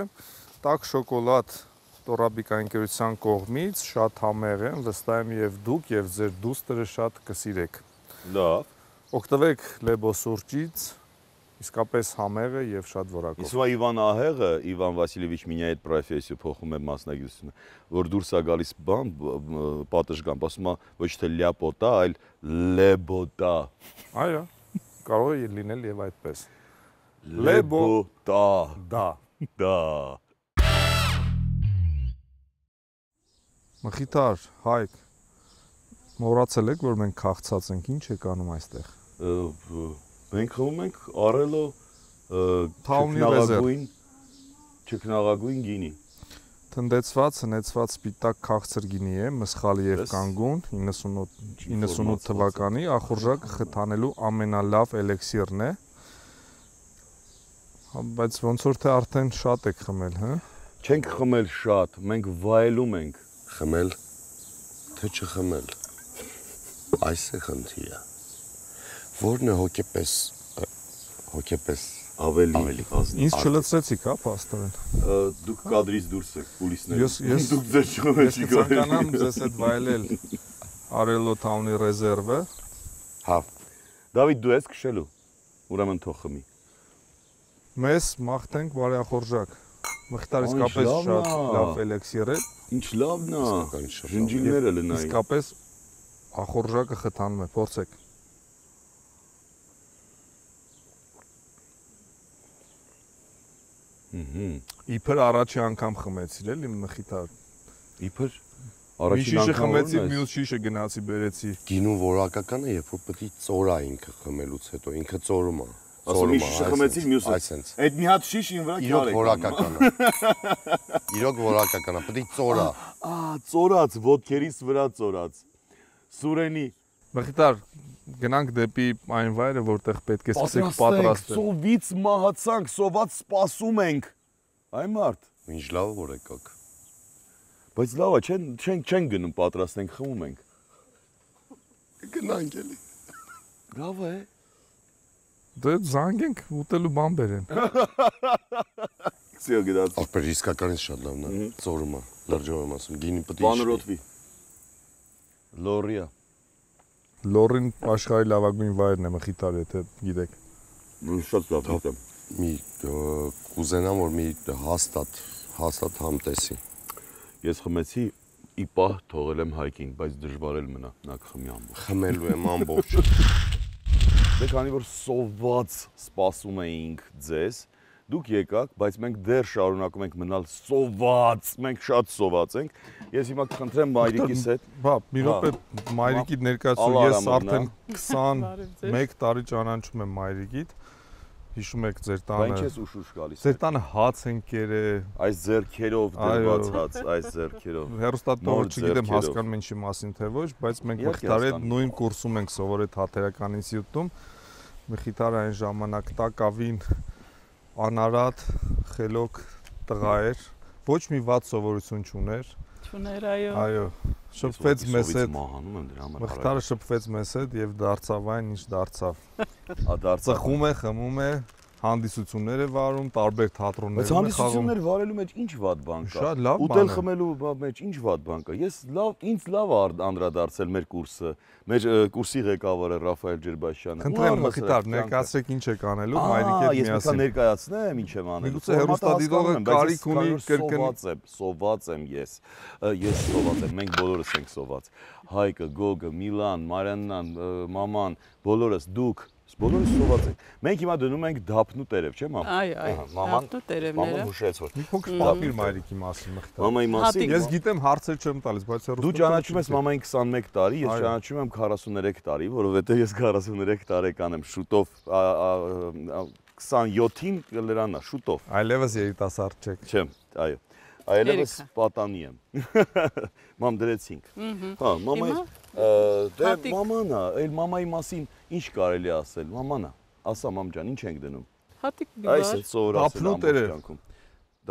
տաք շոկոլադ Տորաբիկա ընկերության կողմից շատ համեղ է, վստահ եմ եւ դուք եւ ձեր դուստրը շատ կսիրեք։ Լավ։ Օգտվեք Լեբո սուրճից, իսկապես համեղ է եւ շատ որակով։ Իսկ Իվան Ահեղը, Իվան Վասիլևիչ Մինյայի այդ պրոֆեսիա փոխում է մասնագիտությունը, որ դուրս է գալիս բան, պատշգամբ, ասում է ոչ թե լյապոտա, այլ լեբոտա։ Այո, կարող է լինել եւ այդպես։ Լեբոտա։ Դա։ Մխիթար, Հայկ, մոռացել եք, որ մենք քաղցած ենք, ինչ եք անում այստեղ։ Մենք խմում ենք Արելո չքնաղագույն գինի։ Թնդեցված, հնեցված սպիտակ քաղցր գինի է, մսխալի եւ կանգուն, 98 թվականի, ախորժակը խթանելու ամենալավ էլեքսիրն է։ Բայց ոնց որ թե արդեն շատ եք խմել, հա։ Չենք խմել շատ, մենք վայելում ենք։ Խմել, թե չխմել։ Այս է խնդիրը։ Որն է հոգեպես ավելի ազնիվ։ Ինձ չլցրեցիք, հա, փաստորեն։ Դուք կադրից դուրս եք, կուլիսներում։ Ես դուք ձեր չխմեք չի գալիս։ Ցանկանամ ձեզ հետ վայելել Արելո Թաունի ռեզերվը։ Հա։ Դավիթ, դու ես քշելու։ Ուրեմն թող խմի։ Մեզ մաղթենք բարեախորժակ։ Մխիթար իսկապես շատ լավ էլեքսիր է։ Ինչ լավն է։ Ժնջիլները լնայի։ Իսկապես ախորժակը խթանում է, փորձեք։ Իբր առաջի անգամ խմեցիր էլի Մխիթար։ Իբր առաջին անգամ խմեցի, մյուս շիշը գնացի բերեցի։ Գինու որակական է, երբ որ պետք է ծորա ինքը խմելուց հետո, ինքը ծորում է։ Ասում մի շիշը խմեցիր, մյուսը։ Այսենց։ Այդ մի հատ շիշ ին վրա Իրոք որակական է։ Իրոք որակական է, պետք է ծորա։ Ծորած, ոտքերից վրա ծորած։ Սուրենի։ Մխիթար, գնանք դեպի այն վայրը, որտեղ պետք է սկսենք պատրաստել։ Սովից մահացանք, սոված սպասում ենք։ Այ մարդ։ Ինչ լավ որ եկաք։ Բայց լավ է, չեն գնում պատրաստենք, խմում ենք։ Գնանք էլի։ Լավ է։ Դե զանգենք ուտելու բան բերեն։ Սիո գնաց։ Ախպեր իսկականից շատ լավն է, ծորում է, լրջով եմ ասում, գինի պետք է Բանրոթվի։ Լորիա։ Լորին աշխարհի լավագույն վայրն է Մխիթար, եթե գիտեք։ Շատ լավ գիտեմ։ Մի կուզենամ որ մի հաստատ համ տեսի։ Ես խմեցի ի պահ թողել եմ Հայկին, բայց դժվար էլ մնա, նա կխմի ամբողջ։ Խմելու եմ ամբողջ։ Դե քանի որ սոված սպասում էինք ձեզ, Դուք եկաք, բայց մենք դեռ շարունակում ենք մնալ սոված, մենք շատ սոված ենք։ Ես հիմա կխնդրեմ մայրիկիս հետ։ Բա, մի րոպե մայրիկիդ ներկայացու, ես արդեն 21 տարի ճանաչում եմ մայրիկիդ։ Հիշում եք ձեր տանը։ Բայց ես ուշ գալիս։ Ձեր տանը հաց են կերել։ Այս ձեռքերով դրված հաց, այս ձեռքերով։ Հերոստատողը չգիտեմ հասկանում ինչի մասին թե ոչ, բայց մենք Մխիթարի հետ նույն կուրսում ենք սովորել Թատերական ինստիտուտում։ Մխիթարը այն ժամանակ տակավին անարատ, խելոք տղա էր, ոչ մի վատ սովորություն չուներ։ Չուներ, այո։ Այո, շփվեց մեզ հետ։ Մահանում եմ դրա համար։ Մխիթարը շփվեց մեզ հետ եւ դարձավ այն, ինչ դարձավ։ Դարձավ։ Ծխում է, խմում է, հանդիսություններ է վարում, տարբեր թատրոններում է խաղում։ Բայց հանդիսություններ վարելու մեջ ինչ վատ բան կա։ Շատ լավ բան է։ Ուտել խմելու մեջ ինչ վատ բան կա։ Ես ինձ լավ անդրադարձել մեր կուրսը։ Մեր կուրսի ղեկավարը Ռաֆայել Ջերբաշյանը։ Խնդրեմ Մխիթար, ներկայացրեք ինչ եք անելու մայրիկի հետ միասին։ Ես մտա ներկայացնեմ ինչ եմ անելու։ Միգուցե հերոստատիտողը կարիք ունի կրկնի։ Սոված եմ ես։ Ես սոված եմ, մենք բոլորս ենք սոված։ Հայկը, Գոգը, Միլան, Մարիաննան, մաման, բոլորս դուք բոլորս սոված ենք։ Մենք հիմա դնում ենք դափնու տերև, չէ՞ մամ։ Այո, դափնու տերևները։ Մաման հուշեց որ։ Մի փոքր պատմիր մայրիկի մասին Մխիթար։ Մամայի մասին։ Ես գիտեմ հարցեր չեմ տալիս, բայց դու ճանաչում ես մամային 21 տարի, ես ճանաչում եմ 43 տարի, որովհետև ես 43 տարեկան եմ, շուտով 27-ին կլրանա, շուտով։ Այլևս երիտասարդ չեք։ Չեմ, այո։ Այլևս պատանի եմ։ Մամ դրեցինք։ Հա, մամայի դե մամանա, այլ մամայի մասին ինչ կարելի ասել, մամանա։ Ասա մամ ջան, ինչ ենք դնում։ Հատիկ բիբար։ Այս է սովորացել ամբողջ կյանքում։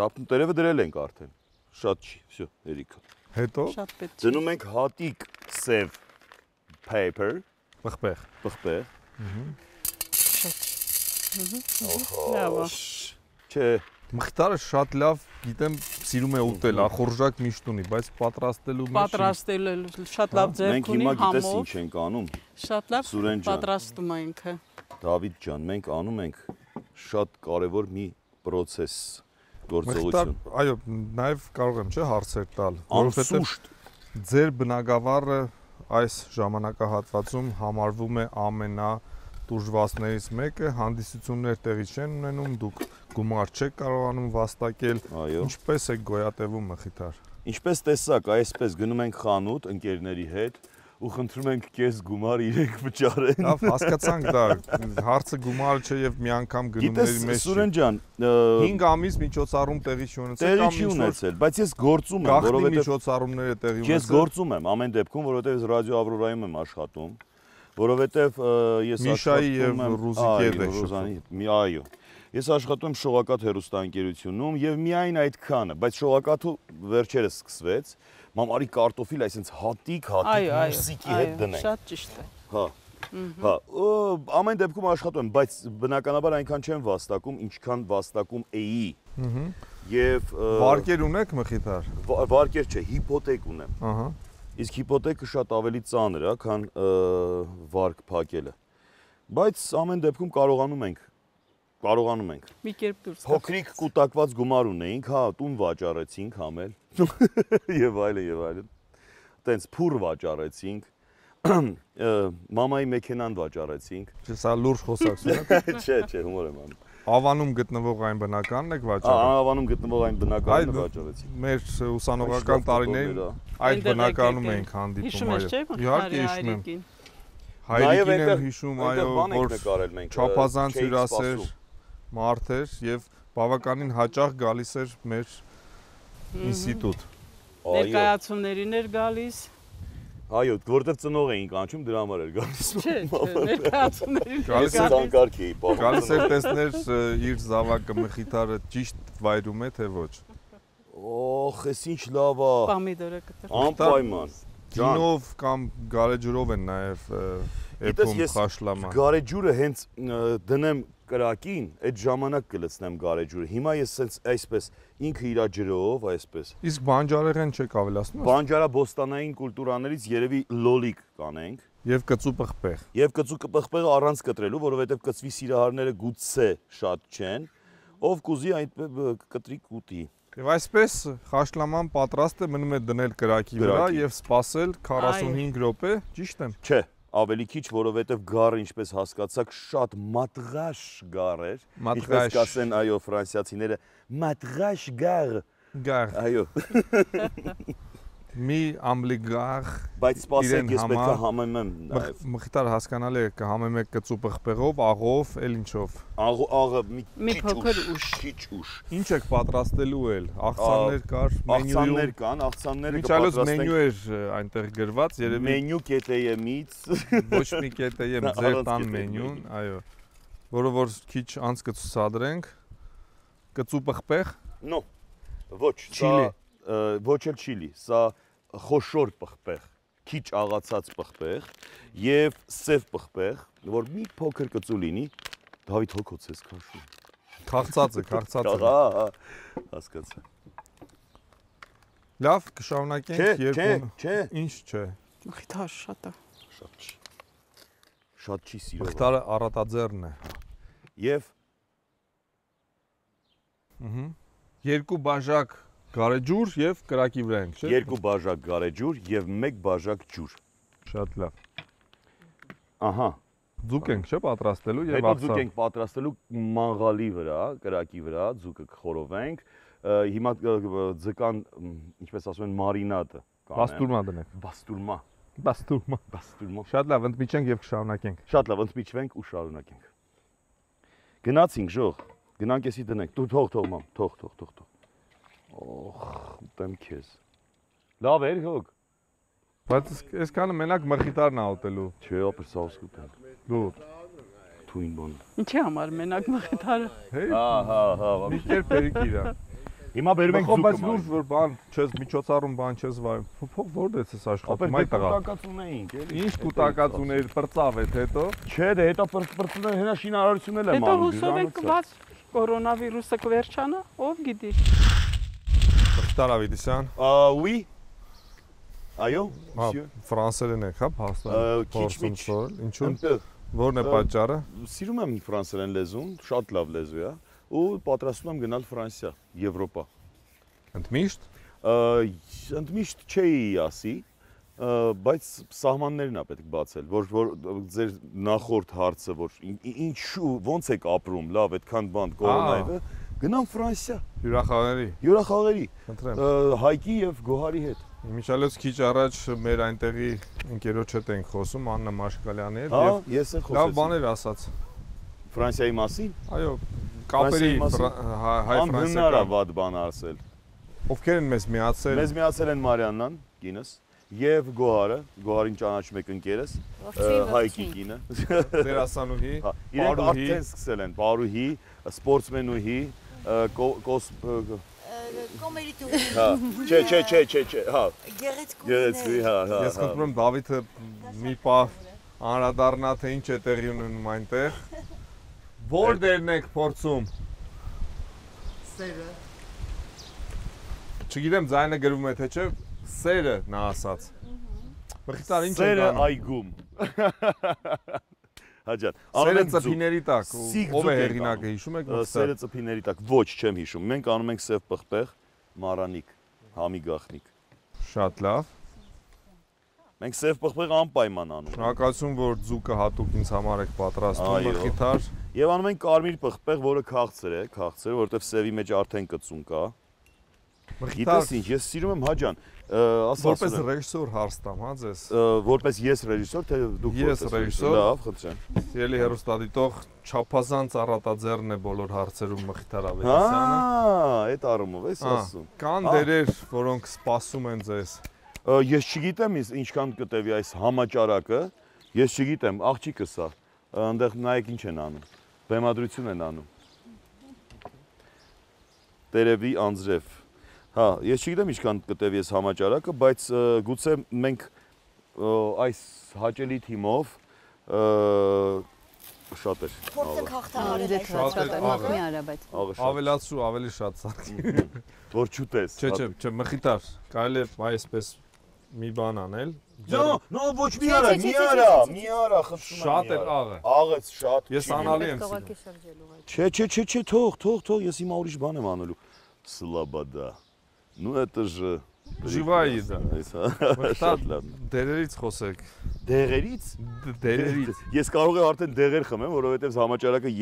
Դափնու տերևը դրել ենք արդեն։ Շատ չի, всё, երիկա։ Հետո Շատ պետք է։ դնում ենք հատիկ սև paper, պղպեղ։ Լավ։ Չէ, Մխիթարը շատ լավ, գիտեմ, սիրում է ուտել, ախորժակ միշտ ունի, բայց պատրաստելու մեջ Պատրաստել շատ լավ ձեռք ունի մենք հիմա գիտես համով։ ինչ ենք անում։ Շատ լավ Սուրեն ջան։ պատրաստում է ինքը։ Դավիթ ջան, մենք անում ենք շատ կարևոր մի process Մխիթար, գործողություն։ այո, նաև կարող եմ, չէ, հարցեր տալ, Անսուշտ ձեր բնակավարը այս ժամանակահատվածում համարվում է ամենատուժվածներից մեկը, հանդիսություններ տեղի չեն ունենում, դուք գումար չեք կարողանում վաստակել, Այո։ ինչպես եք գոյատևում Մխիթար։ Ինչպես տեսակ, այսպես գնում ենք խանութ ընկերների հետ ու խնդրում ենք քեզ գումար իրենք վճարեն։ Լավ, հասկացանք դա, հարցը գումարը չէ եւ մի անգամ գնումների մեջ։ Գիտես Սուրեն ջան, 5 ամիս միջոցառում տեղի չունեցել տեղի չի ունեցել, բայց ես գործում եմ, գաղտնի որովհետեւ միջոցառումները տեղի ես ունեցել։ գործում եմ ամեն դեպքում, որովհետեւ ես ռադիո Ավրորայում եմ աշխատում, որովհետեւ ես Միշայի եւ Ռուզիկի հետ եք Ռուզանի, այո։ Ես աշխատում եմ Շողակաթ հեռուստաընկերությունում եւ միայն այդքանը, բայց Շողակաթը վերջերս սկսվեց, մամարի կարտոֆիլ, այսինքն հատիկ, մուսիկի հետ դնենք։ Շատ ճիշտ է։ Հա։ Հա, ամեն դեպքում աշխատում եմ, բայց բնականաբար այնքան չեմ վաստակում, ինչքան վաստակում էի։ Եվ Վարկեր ունեք Մխիթար։ վարկեր չէ, հիփոթեք ունեմ։ Ահա։ Իսկ հիփոթեկը շատ ավելի ծանր է, քան վարկ փակելը։ Բայց ամեն դեպքում կարողանում ենք։ Մի կերպ դուրս գա։ Փոքրիկ կուտակված գումար ունեինք, հա, տուն վաճառեցինք համել։ Եվ այլն։ Տենց փուր վաճառեցինք։ Մամայի մեքենան վաճառեցինք։ Չէ, սա լուրջ խոսակցություն է։ Չէ, հումոր եմ անում։ Ավանում գտնվող այն բնականն եք վաճառել։ Ավանում գտնվող այն բնականը վաճառեցինք։ Մեր ուսանողական տարիներին այդ բնականում էինք հանդիպում, Հիշում ես, չէ՞, Իհարկե հիշում եմ։ Նաև Հայրիկին եմ այնտեղ հիշում, այնտեղ այո, բան ենք որ նկարել մենք, չափազանց չէինք հյուրասեր սպասում։ մարդ էր եւ բավականին հաճախ գալիս էր մեր ինստիտուտ։ Ներկայացումներին էր գալիս։ Այո, որտեղ ծնող էինք անցում, դրա համար էր գալիս։ Չէ, ներկայացումներին Գալիս էր ցանկարք էի պահում։ Գալիս էր տեսներ իր զավակը Մխիթարը ճիշտ վայրում է թե ոչ։ Օխ, էս ինչ լավ է։ Պամիդորը կտրում։ Անպայման։ Գինով կամ գարեջրով են նաև էփում խաշլամա։ Գարեջուրը հենց դնեմ կրակին, այդ ժամանակ կլցնեմ գարեջուրը։ Հիմա ես սենց այսպես ինքը իր ջրով, այսպես։ Իսկ բանջարեղեն չեք ավելացնում։ Բանջարաբոստանային կուլտուրաներից երևի լոլիկ կանենք։ Եվ կծու պղպեղ։ Եվ կծու պղպեղը առանց կտրելու, որովհետև կծվի սիրահարները գուցե շատ չեն, ով կուզի այդ կտրի կուտի։ Եվ այսպես խաշլաման պատրաստ է մնում է դնել կրակի վրա եւ սպասել 45 րոպե, ճիշտ եմ։ Չէ, ավելի քիչ, որովհետև գառը ինչպես հասկացաք, շատ մատղաշ գառ էր։ Ինչպես կասեն, այո, ֆրանսիացիները, մատղաշ գառ։ Գառ։ Այո։ Մի ամբլիգար, բայց սպասեք, ես պետք է համեմեմ նաև։ Մխիթար հասկանալի է կհամեմեք կծու պղպեղով, աղով, էլ ինչով։ Աղը մի փոքր ուշ։ Քիչ ուշ։ Ինչ եք պատրաստելու էլ։ Աղցաններ կար, մենյուում։ Աղցաններ կան, աղցանները կպատրաստենք։ Միջալոց մենյու էր այնտեղ գրված, երևի։ Մենյու կետեյեմից։ Ոչ մի կետեյեմ, ձեր տան մենյուն, այո։ Որը որ քիչ անց կցուցադրենք։ Կծու պղպեղ։ No, ոչ, սա ոչ էլ չիլի, սա խոշոր պղպեղ, քիչ աղացած պղպեղ եւ սև պղպեղ, որ մի փոքր կծու լինի, Դավիթ հոգոց ես քաշում։ Քաղցած է։ Հասկացա։ Լավ, կշարունակենք երկու։ Չէ։ Ինչ չէ։ Մխիթար շատ է։ Շատ չի սիրով։ Մխիթարը առատաձեռն է։ Եվ երկու բաժակ գարեջուր եւ կրակի վրա ենք, չէ՞։ Երկու բաժակ գարեջուր եւ մեկ բաժակ ջուր։ Շատ լավ։ Ահա։ Ձուկ ենք, չէ՞, պատրաստելու եւ Հետո ձուկ ենք պատրաստելու մանգալի վրա, կրակի վրա, ձուկը կխորովենք։ Հիմա ձկան, ինչպես ասում են, մարինադը կանենք։ Բաստուրմա դնենք։ Բաստուրմա։ Շատ լավ, ընդմիջենք եւ կշարունակենք։ Շատ լավ, ընդմիջվենք ու շարունակենք։ Գնացինք, ժող։ Գնանք էսի դնենք։ Դու թող մամ, թող։ Օհ, ուտեմ քեզ։ Լավ էր հոգ։ Բայց այսքանը մենակ մխիթարն է ուտելու։ Չէ, ապեր սաուս կուտեմ։ Դու Թույն բան։ Ինչի համար մենակ մխիթարը։ Հա։ Մի կերպ երիկ իրա։ Հիմա բերում ենք ձուկը։ Բայց լուրջ որ բան, չես միջոցառում բան չես վայում։ Փող որտե՞ց ես աշխատում այդ տղա։ Կուտակած ունեինք, էլի։ Ինչ կուտակած ուներ, պրծավ է հետո։ Չէ, դե հետո պրծները հենա շինարարությունն էլ է Հետո մանում։ հուսով եք կված կորոնավիրուսը կվերջանա, ով գիտի։ Մխիթար Ավետիսյան։ Oui։ Այո, Monsieur։ Ֆրանսերեն եք, հա, փաստորեն։ Ինչու՞։ Որն է պատճառը։ Սիրում եմ ֆրանսերեն լեզուն, շատ լավ լեզու է, ու պատրաստում եմ գնալ Ֆրանսիա, Եվրոպա։ Ընդմիշտ։ Ընդմիշտ չէի ասի, բայց սահմաններն է պետք բացել, որ ձեր նախորդ հարցը, որ ինչու, ոնց եք ապրում, լավ, այդքան բան կորոնայը, գնամ Ֆրանսիա։ Հյուրախաղերի։ Հայկի եւ Գոհարի հետ։ Իմիջալոց քիչ առաջ մեր այնտեղի ընկերոջ հետ ենք խոսում, Աննա Մաշկալյանի հետ եւ ես էլ խոսեցի։ Լավ բաներ ասաց։ Ֆրանսիայի մասին։ Այո, կապերի հայ-ֆրանսիական վատ բան ասել։ Ովքեր են մեզ միացել։ Մեզ միացել են Մարիաննան, կինս, եւ Գոհարին ճանաչում եք ընկերս, Հայկի կինը։ Դերասանուհի, իրենք արդեն սկսել են, Պարուհի, սպորտսմենուհի, Կոմերիտուհի։ Հա, չէ, հա։ Գեղեցկուհի, հա։ Ես խնդրում եմ Դավիթը մի պահ անդրադառնա թե ինչ է տեղի ունենում այնտեղ։ Որ դերն եք փորձում։ Սերը։ Չգիտեմ ձայնը գրվում է թե չէ, սերը նա ասաց։ Մխիթար ինչ է Սերը այգում։ Հաջան։ Սերը ծփիների տակ, ով է հեղինակը հիշում եք։ Սերը ծփիների տակ, ոչ, չեմ հիշում։ Մենք անում ենք սև պղպեղ, մարանիկ, համի գախնիկ։ Շատ լավ։ Մենք սև պղպեղ անպայման անում ենք։ Շնորհակալություն, որ ձուկը հատուկ ինձ համար եք պատրաստում, Մխիթար։ Եվ անում ենք կարմիր պղպեղ, որը քաղցր է, որովհետև սևի մեջ արդեն կծուն կա։ Գիտես ինչ, ես սիրում եմ Հաջան, որպես ռեժիսոր հարց տամ, հա ձեզ։ Որպես ես ռեժիսոր, թե դուք ես ռեժիսոր։ Լավ, խնդրեմ։ Սիրելի հեռուստադիտող, չափազանց առատաձեռն է բոլոր հարցերում Մխիթար Ավետիսյանը։ Հա, այդ առումով ես ասում։ Կան դերեր, որոնք սպասում են ձեզ։ Ես չգիտեմ ինչքան կտևի այս համաճարակը, ես չգիտեմ, աղջիկը սա, այնտեղ նայեք ինչ են անում, բեմադրություն են անում։ Տերևի անձրև։ Հա, ես չգիտեմ ինչքան կտևի այս համաճարակը, բայց գուցե մենք այս հաճելի թիմով շատ էր։ Փորձը հաղթահարել է շատ մախմի արա, բայց ավելացրու, ավելի շատ սարքի։ Որ չուտես։ Չէ, Մխիթար, կարելի է այսպես մի բան անել։ No, ոչ մի արա, խնդրում եմ։ Շատ էր աղը։ Աղեց շատ։ Ես անալի եմ սիրում։ Չէ, թող, ես հիմա ուրիշ բան եմ անելու։ Слобода. Ну это же Живая еда։ Շատ լավ։ Դերերից խոսեք։ Դեղերից։ Դերերից։ Ես կարող եմ արդեն դեղեր խմեմ, որովհետև համաճարակը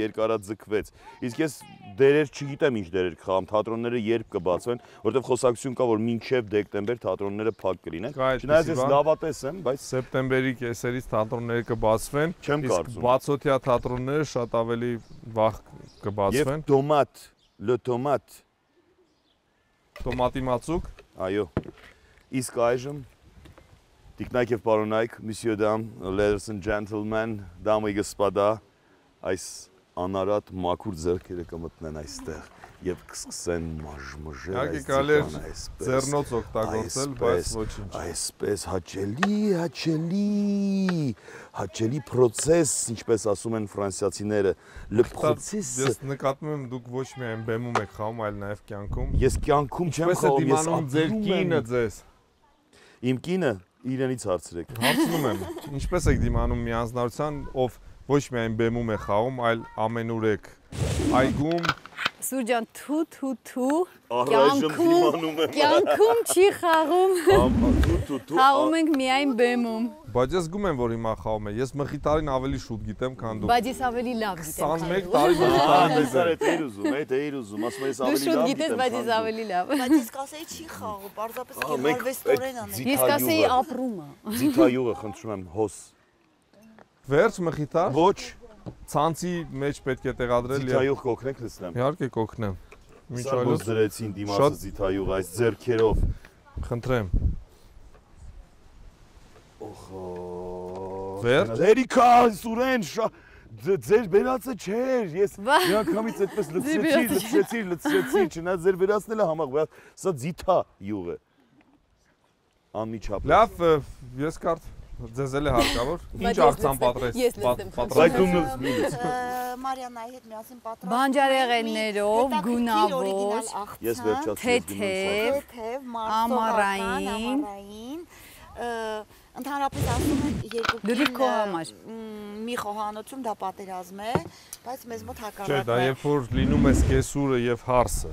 երկարաձգվեց։ Իսկ ես դերեր չգիտեմ ինչ դերեր կխաղամ, թատրոնները երբ կբացվեն, որովհետև խոսակցություն կա, որ մինչև դեկտեմբեր թատրոնները փակ կլինեն։ Չնայած ես լավատես եմ, բայց սեպտեմբերի կեսերից թատրոնները կբացվեն, չեմ իսկ կարծում։ բացօթյա թատրոնները շատ ավելի վաղ կբացվեն։ Եվ տոմատ, le tomate, Տոմատի մածուկ։ այո։ Իսկ այժմ Տիկնայք եւ պարոնայք, Monsieur Dame, ladies and gentlemen, дамы и господа, այս անարատ մաքուր ձեռքերը կմտնեն այստեղ եւ կսկսեն մաժմժել այս ձկանը այսպես։ Ձեռնոց օգտագործել, բայց ոչինչ։ Այսպես հաճելի process, ինչպես ասում են ֆրանսիացիները, le process։ Ես նկատում եմ դուք ոչ միայն բեմում եք խաղում, այլ նաեւ կյանքում։ Ես կյանքում չեմ խաղում, ես ձեր կինը ձեզ։ Իմ կինը իրենից հարցրեք։ Հարցնում եմ, ինչպես եք դիմանում մի անձնարարության, ով ոչ միայն բեմում է խաղում, այլ ամենուր եք այգում։ Սուրջան թու Առայժմ դիմանում եմ։ կյանքում չի խաղում։ Թու Խաղում ենք միայն բեմում։ Բայց ես զգում եմ, որ հիմա խաղում է։ Ես Մխիթարին ավելի շուտ գիտեմ, քան դուք։ Բայց ես ավելի լավ գիտեմ։ 21 տարի Մխիթարին Էդ ուզում, ասում ես Դու ավելի շուտ լավ գիտես, բայց ես ավելի լավ։ Բայց ես կասեի չի խաղում, պարզապես արվեստորեն անել։ Ես կասեի ապրումը։ Ձիթայուղը խնդրում եմ հոս։ Վերջ Մխիթար։ Ոչ, Ցանցի մեջ պետք է տեղադրել եւ ձիթայուղ կօգնեք լցնեմ։ իհարկե կօգնեմ։ Մինչ Սա այլոց դրեցին դիմացը ձիթայուղ այս ձեռքերով։ խնդրեմ։ Օխո։ Վերջ։ Լերիկա, Սուրեն, ձեր բերածը չէր, ես միանգամից այդպես լցրեցի, չնայած ձեր բերածն էլ է համախ, սա ձիթայուղ է։ Անմիջապես։ Լավ, ես կարծ ձեզ էլ է հարկավոր։ Ինչ աղցան պատրաստ։ Բայց դու նույնիսկ Մարիանայի հետ միասին պատրաստ։ Բանջարեղեններով, գունավոր, ես վերջացրի թեթև, ամառային, Ընդհանրապես ասում են Լրիվ քո համար։ մի խոհանոցում դա պատերազմ է, բայց մեզ մոտ Չէ, հակառակն է։ դա երբ որ լինում է սկեսուրը եւ հարսը,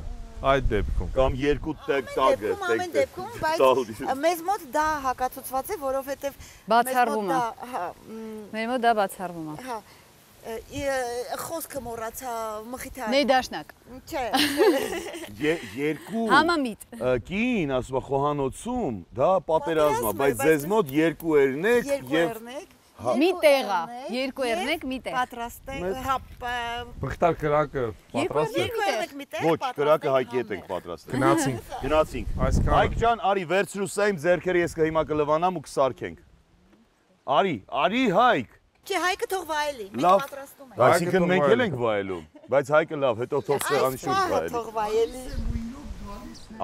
այդ դեպքում։ կամ երկու տագը, Ամեն դեպքում, բայց մեզ մոտ դա հակացուցված է, որովհետև բացառվում է։ Մեր մոտ դա բացառվում է։ Հա, խոսքը մոռացա Մխիթար։ Ներդաշնակ։ Չէ։ Երկու Համամիտ։ կին, ասում խոհանոցում, դա պատերազմ է, բայց ձեզ մոտ երկու երնեք եւ մի տեղա, երկու երնեք մի տեղ։ Պատրաստ է, հա, Մխիթար կրակը պատրաստ է։ երկու երնեք մի տեղ։ ոչ, կրակը հայկի հետ ենք պատրաստ։ Գնացինք։ Գնացինք։ Հայկ ջան, արի վերցրու սա իմ ձեռքերը, ես հիմա կլվանամ ու կսարքենք։ Արի Հայկ։ Չէ, Հայկը թող վայելի, մենք Լավ, պատրաստում ենք։ այսինքն մենք էլ ենք վայելում, բայց Հայկը լավ, հետո թող սեղանի շուրջ վայելի։ Թող վայելի։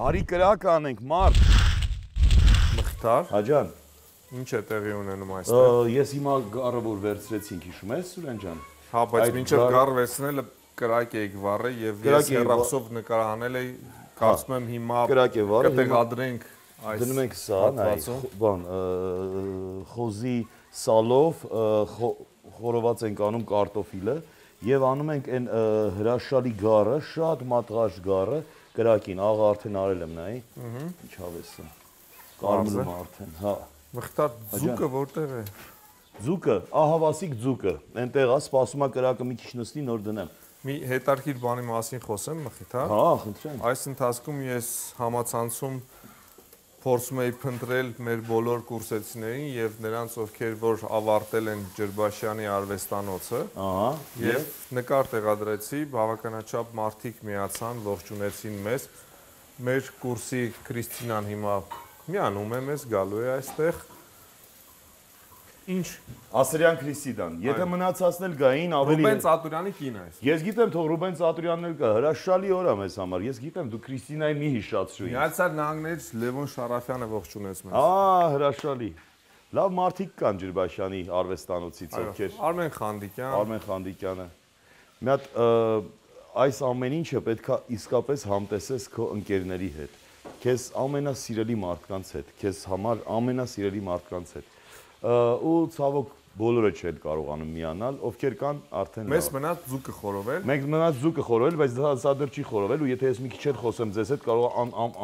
Արի կրակ անենք, մարդ։ Մխիթար, Հաջան, ինչ է տեղի ունենում այստեղ։ ես հիմա գառը որ վերցրեցինք, հիշում ես Սուրեն ջան։ Հա, բայց այդ մինչև գառը- գառ վերցնելը կրակ էիք վառել եւ ես Կրակ էի հեռախոսով նկարահանել էի, կարծում եմ հիմա Կրակ է վառել, հիմա կտեղադրենք այս դնում ենք սա, նայ, հատվածում։ բան, խոզի սալով խորոված ենք անում կարտոֆիլը եւ անում ենք այն հրաշալի գառը, շատ մատղաշ գառը կրակին, աղը արդեն արել եմ նայ։ Ինչ հավես է։ Կարմրում արդեն, հա։ Մխիթար, ձուկը որտեղ է։ Ձուկը, ահավասիկ ձուկը, այնտեղ է, սպասում է կրակը մի քիչ նստի, նոր դնեմ։ Մի հետարքիր բանի մասին խոսեմ, Մխիթար։ Հա, խնդրեմ։ Այս ընթացքում ես համացանցում փորձում էի փնտրել մեր բոլոր կուրսեցիներին եւ նրանց, ովքեր որ ավարտել են Ջրբաշյանի արվեստանոցը, Ահա, եւ նկար տեղադրեցի, բավականաչափ մարդիկ միացան, ողջունեցին մեզ։ Մեր կուրսի Քրիստինան հիմա միանում է մեզ, գալու է այստեղ։ Ինչ Ասրյան Քրիստիդան, եթե մնացածն էլ գային ավելի Ռուբեն Ծատուրյանի կին է։ Ես գիտեմ, թող Ռուբեն Ծատուրյանն էլ կա, հրաշալի օր է մեզ համար։ Ես գիտեմ, դու Քրիստինայի մի հիշացրու ինձ։ Միացյալ Նահանգներից Լևոն Շարաֆյանը ողջունեց մեզ։ Հրաշալի։ Լավ մարդիկ կան Ջրբաշյանի արվեստանոցից, ովքեր Արմեն Խանդիկյան։ Արմեն Խանդիկյանը։ Մի հատ այս ամեն ինչը պետքա իսկապես համտեսես քո ընկերների հետ։ Քեզ ամենասիրելի մարդկանց հետ, քեզ համար ամենասիրելի մարդկանց հետ։ Ու ցավոք բոլորը չեն կարողանում միանալ, ովքեր կան արդեն Մեզ մնաց ձուկը խորովել։ Մենք մնաց ձուկը խորովել, բայց դա դեռ չի խորովել ու եթե ես մի քիչ հետ խոսեմ ձեզ հետ կարող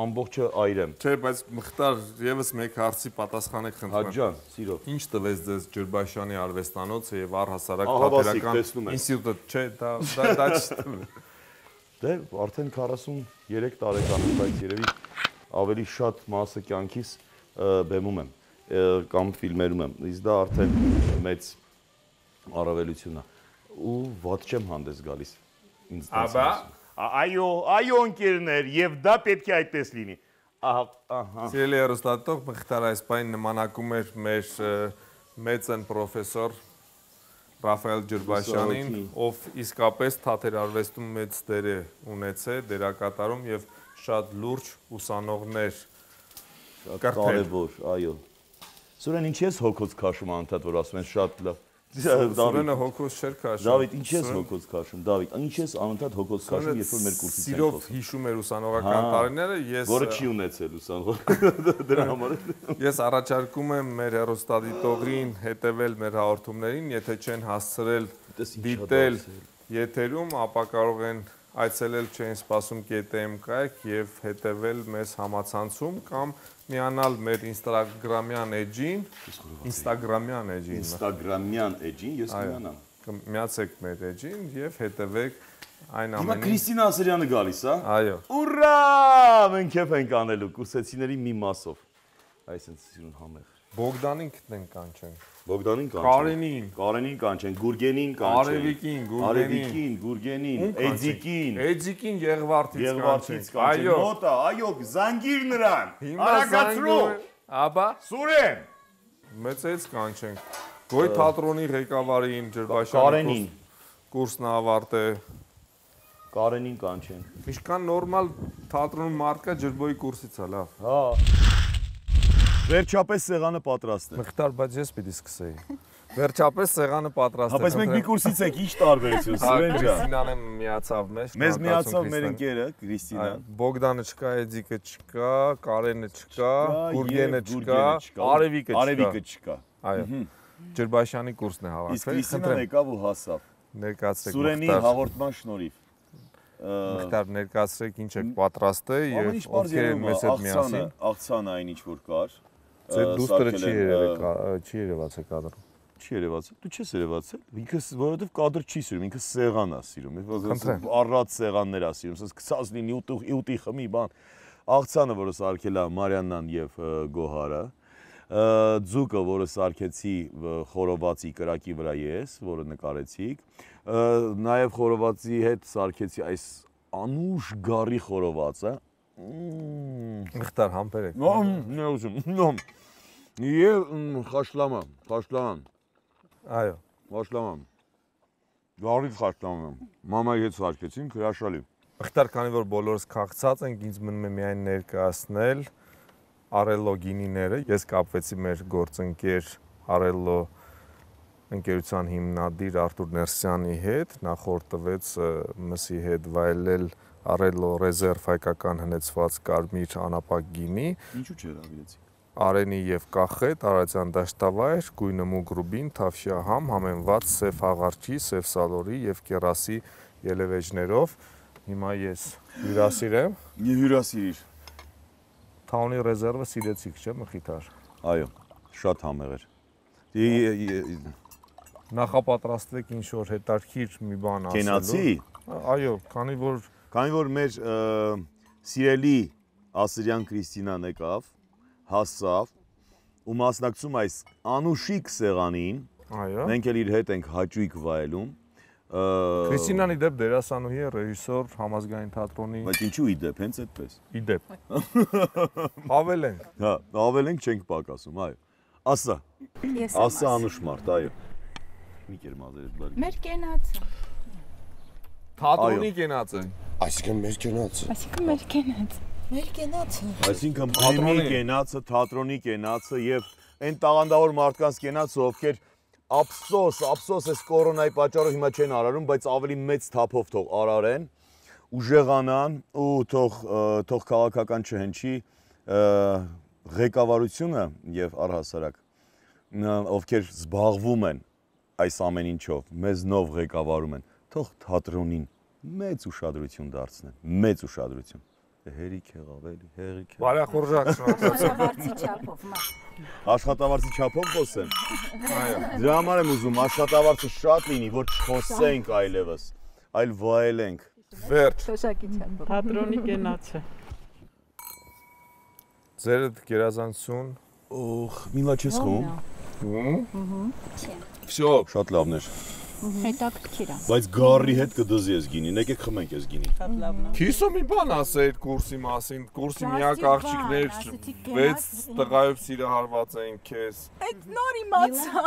ամբողջը այրեմ։ Չէ, բայց Մխտար եւս մեկ հարցի պատասխանեք խնդրեմ։ Հաջան, սիրով։ Ինչ տվեց ձեզ Ջրբաշյանի արվեստանոցը եւ առհասարակ Ահավասիկ, թատերական տեսնում եք։ ինստիտուտը, չէ, դա չի։ Դե արդեն 43 տարեկան եմ, բայց երևի ավելի շատ մասը կյանքիս բեմում եմ կամ ֆիլմերում եմ։ Իսկ դա արդեն մեծ առավելություն է ու ված չեմ հանդես գալիս ինձ Աբա, այո ընկերներ, եւ դա պետք է այդպես լինի։ Ահա։ Սիրելի հեռուստատող Մխտար այս պայն նմանակում էր մեր մեծն պրոֆեսոր Ռաֆայել Ջրբաշյանին, ով իսկապես թատերարվեստում մեծ դեր է ունեցել, դերակատարում եւ շատ լուրջ ուսանողներ կարևոր, այո։ Սուրեն ինչ ես հոգոց քաշում անընդհատ որ ասում են շատ լավ։ Սուրենը հոգոց չէր քաշում։ Դավիթ, ինչ ես հոգոց քաշում, Դավիթ, ինչ ես անընդհատ հոգոց քաշում, երբ որ մեր կուրսից են խոսում։ Սիրով հիշում էր ուսանողական տարիները, ես որը չի ունեցել ուսանող դրա համար։ Ես առաջարկում եմ մեր հեռուստադիտողին հետևել մեր հաղորդումներին, եթե չեն հասցրել դիտել եթերում, ապա կարող են այցելել չեն սպասում .am-կայք եւ հետևել մեզ համացանցում կամ միանալ մեր Instagram-յան էջին, ես կմիանամ։ Միացեք մեր էջին եւ հետևեք այն ամենին։ Հիմա Քրիստինա Ասրյանը գալիս, հա։ Այո։ Ուրա, մենք քեֆ ենք անելու կուրսեցիների մի մասով։ Այսինքն սիրուն համեղ։ Բոգդանին գտնենք կանչենք։ Բոգդանին կանչենք։ Կարենին կանչենք, Գուրգենին կանչենք։ Արևիկին, Գուրգենին, Էձիկին Եղվարդից կանչենք։ Այո, մոտա, այո, զանգիր նրան։ Արագացրու։ Աբա Սուրեն։ Մեծից կանչենք։ Գոյ թատրոնի ղեկավարին Ջրբաշյանի կուրսն ավարտե։ Կարենին կանչենք։ Ինչքան նորմալ թատրոնում մարդ կա ջրբոյի կուրսից է լավ։ Հա։ Վերջապես սեղանը պատրաստ է։ Մխտար, բայց ես պիտի սկսեի։ Վերջապես սեղանը պատրաստ է։ Հա, բայց մենք մի կուրսից ենք, ի՞նչ տարբերություն, Սուրեն ջան։ Քրիստինան միացավ մեզ։ Մեզ միացավ մեր ընկերը, Քրիստինան։ Բոգդանը չկա, Էձիկը չկա, Կարենը չկա, Գուրգենը չկա, Արևիկը չկա։ Այո։ Ջրբաշյանի կուրսն է հավաքվել։ Իսկ Քրիստինան եկավ ու հասավ։ Ներկայացրեք Սուրենի հաղորդման շնորհիվ։ Մխտար ներկայացրեք ինչ եք պատրաստել եւ ովքեր են մեզ հետ միասին։ Աղցանը այն ինչ որ կար։ Ձեր դուստրը չի երևացել կադրում։ Չի երևացել։ Դու չես երևացել։ Ինքս որովհետև կադր չի սիրում, ինքս սեղան է սիրում։ Առած սեղաններ է սիրում, ասես գցած լինի ուտի խմի բան։ Աղցանը, որը սարքել է Մարիաննան եւ Գոհարը, ձուկը, որը սարքեցի խորովածի կրակի վրա ես, որը նկարեցիք, նաեւ խորովածի հետ սարքեցի այս անուշ գարի խորովածը։ Մխտար համբերեք։ Եվ խաշլամա։ Այո, խաշլամա։ Գարից խաշլամա։ Մամայի հետ սարքեցինք, հրաշալի։ Մխտար, քանի որ բոլորս քաղցած ենք, ինձ մնում է միայն ներկայացնել Արելո գինիները։ Ես կապվեցի մեր գործընկեր Արելո ընկերության հիմնադիր Արտուր Ներսյանի հետ, նա խորհուրդ տվեց մսի հետ վայելել Արելո ռեզերվ հայկական հնեցված կարմիր անապակ գինի։ Ինչու՞ չհրավիրեցի։ Արենի եւ կախետ, Արարատյան դաշտավայր, գույնը մուգ ռուբին, թավշյա համ, համենված սև հաղարջի, սև սալորի եւ կերասի ելևեջներով։ Հիմա ես հյուրասիրեմ։ Հյուրասիրիր։ Թաունի ռեզերվը սիրեցիք, չէ՞ Մխիթար։ Այո, շատ համեղ էր։ Նախապատրաստվեք ինչ որ հետարքիր մի բան ասելու։ Կենացի։ Այո, քանի որ մեր սիրելի Ասրյան Քրիստինան եկավ, հասավ ու մասնակցում այս անուշիկ սեղանին։ Այո։ Մենք էլ իր հետ ենք հաճույք վայելում։ Քրիստինան իդեպ դերասանուհի է, ռեժիսոր համազգային թատրոնի։ Բայց ինչու իդեպ, հենց այդպես։ Իդեպ։ Ավելենք։ Հա, ավելենք չենք պակասում, այո։ Ասա։ Ասա անուշ մարդ, այո։ Մի կեր մազերդ բարի։ Մեր կենացը։ Թատրոնի կենացը։ Այսինքն մեր կենացը։ Այսինքն թատրոնի կենացը, թատրոնի կենացը եւ այն տաղանդավոր մարդկանց կենացը, ովքեր ափսոս այս կորոնայի պատճառով հիմա չեն արարում, բայց ավելի մեծ թափով թող արարեն, ուժեղանան ու թող քաղաքական չհնչի ղեկավարությունը եւ առհասարակ ովքեր զբաղվում են այս ամեն ինչով, մեզ նով ղեկավարում են, թող թատրոնին մեծ ուշադրություն դարձնեն, մեծ ուշադրություն։ Հերիք եղավ էլի, հերիք։ Բարեխորժակ Աշխատավարձի չափով, Աշխատավարձի չափով խոսեն։ Դրա համար եմ ուզում աշխատավարձը շատ լինի, որ չխոսենք այլևս, այլ վայելենք։ Վերջ։ Թոշակի չափով։ Թատրոնի կենաց է։ Ձերդ գերազանցություն։ Օխ, միլա չես խոհում։ Всё, շատ լավն էր։ Հետաքրքիր է։ Բայց գարի հետ կդզի ես գինին, եկեք խմենք ես գինին։ Քիսո մի բան ասեիր կուրսի մասին, կուրսի միակ աղջիկներ 6 տղայով սիրահարված էին քեզ։ Այդ նոր իմացա։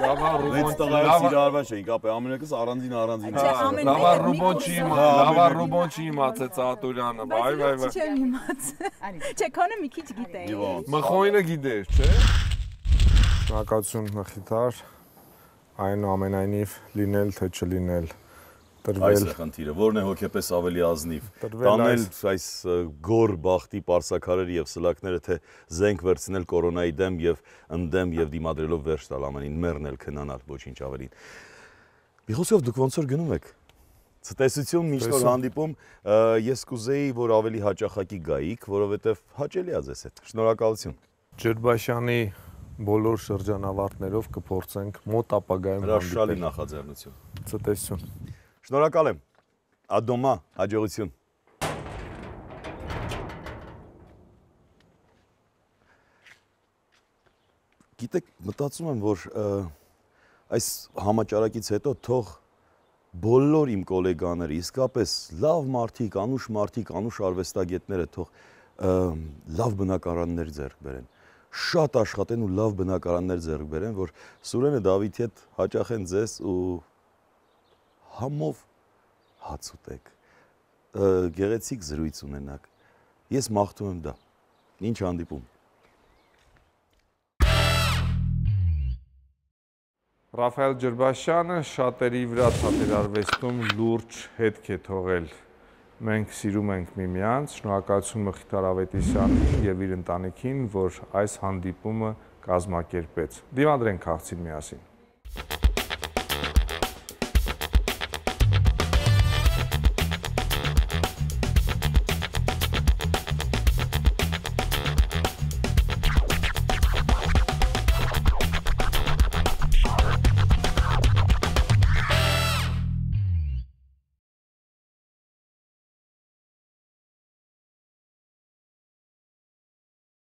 Լավա Վեց տղայով սիրահարված չէինք, ապա ամենակս առանձին։ Լավա ռուբոն չի իմացեց Ատուրյանը, վայ։ Չեմ իմացել։ Չէ, քոնը մի քիչ գիտեի։ Մխոյնը գիտեր, չէ՞։ Շնորհակալություն Մխիթար, այնուամենայնիվ լինել թե չլինել, տրվել։ Այս է խնդիրը, որն է հոգեպես ավելի ազնիվ։ Տանել այս գոր բախտի պարսակարերը եւ սլակները, թե զենք վերցնել կորոնայի դեմ եւ ընդդեմ եւ դիմադրելով վերջ տալ ամենին, մեռնել, քնանալ, ոչինչ ավելին։ Մի խոսքով դուք ոնց որ գնում եք։ Ցտեսություն միշտ որ հանդիպում, ես կուզեի, որ ավելի հաճախակի գայիք, որովհետեւ հաճելի է ձեզ հետ։ Շնորհակալություն։ Ջրբաշյանի բոլոր շրջանավարտներով կփորձենք մոտ ապագայում հրաշալի նախաձեռնություն։ Ցտեսություն։ Շնորհակալ եմ։ Ադոմա, հաջողություն։ Գիտեք, մտածում եմ, որ այս համաճարակից հետո թող բոլոր իմ գոլեգաները, իսկապես լավ մարդիկ, անուշ մարդիկ, անուշ արվեստագետները թող լավ բնակարաններ ձեռք բերեն։ Շատ աշխատեն ու լավ բնակարաններ ձեռք բերեն, որ Սուրենը Դավիթի հետ հաճախեն ձեզ ու համով հաց ուտեք, գեղեցիկ զրույց ունենաք։ Ես մաղթում եմ դա։ Ինչ հանդիպում։ Ռաֆայել Ջրբաշյանը շատերի վրա թատերարվեստում լուրջ հետք է թողել։ Մենք սիրում ենք միմյանց, շնորհակալություն Մխիթար Ավետիսյանին եւ իր ընտանիքին, որ այս հանդիպումը կազմակերպեց։ Դիմադրենք քաղցին միասին։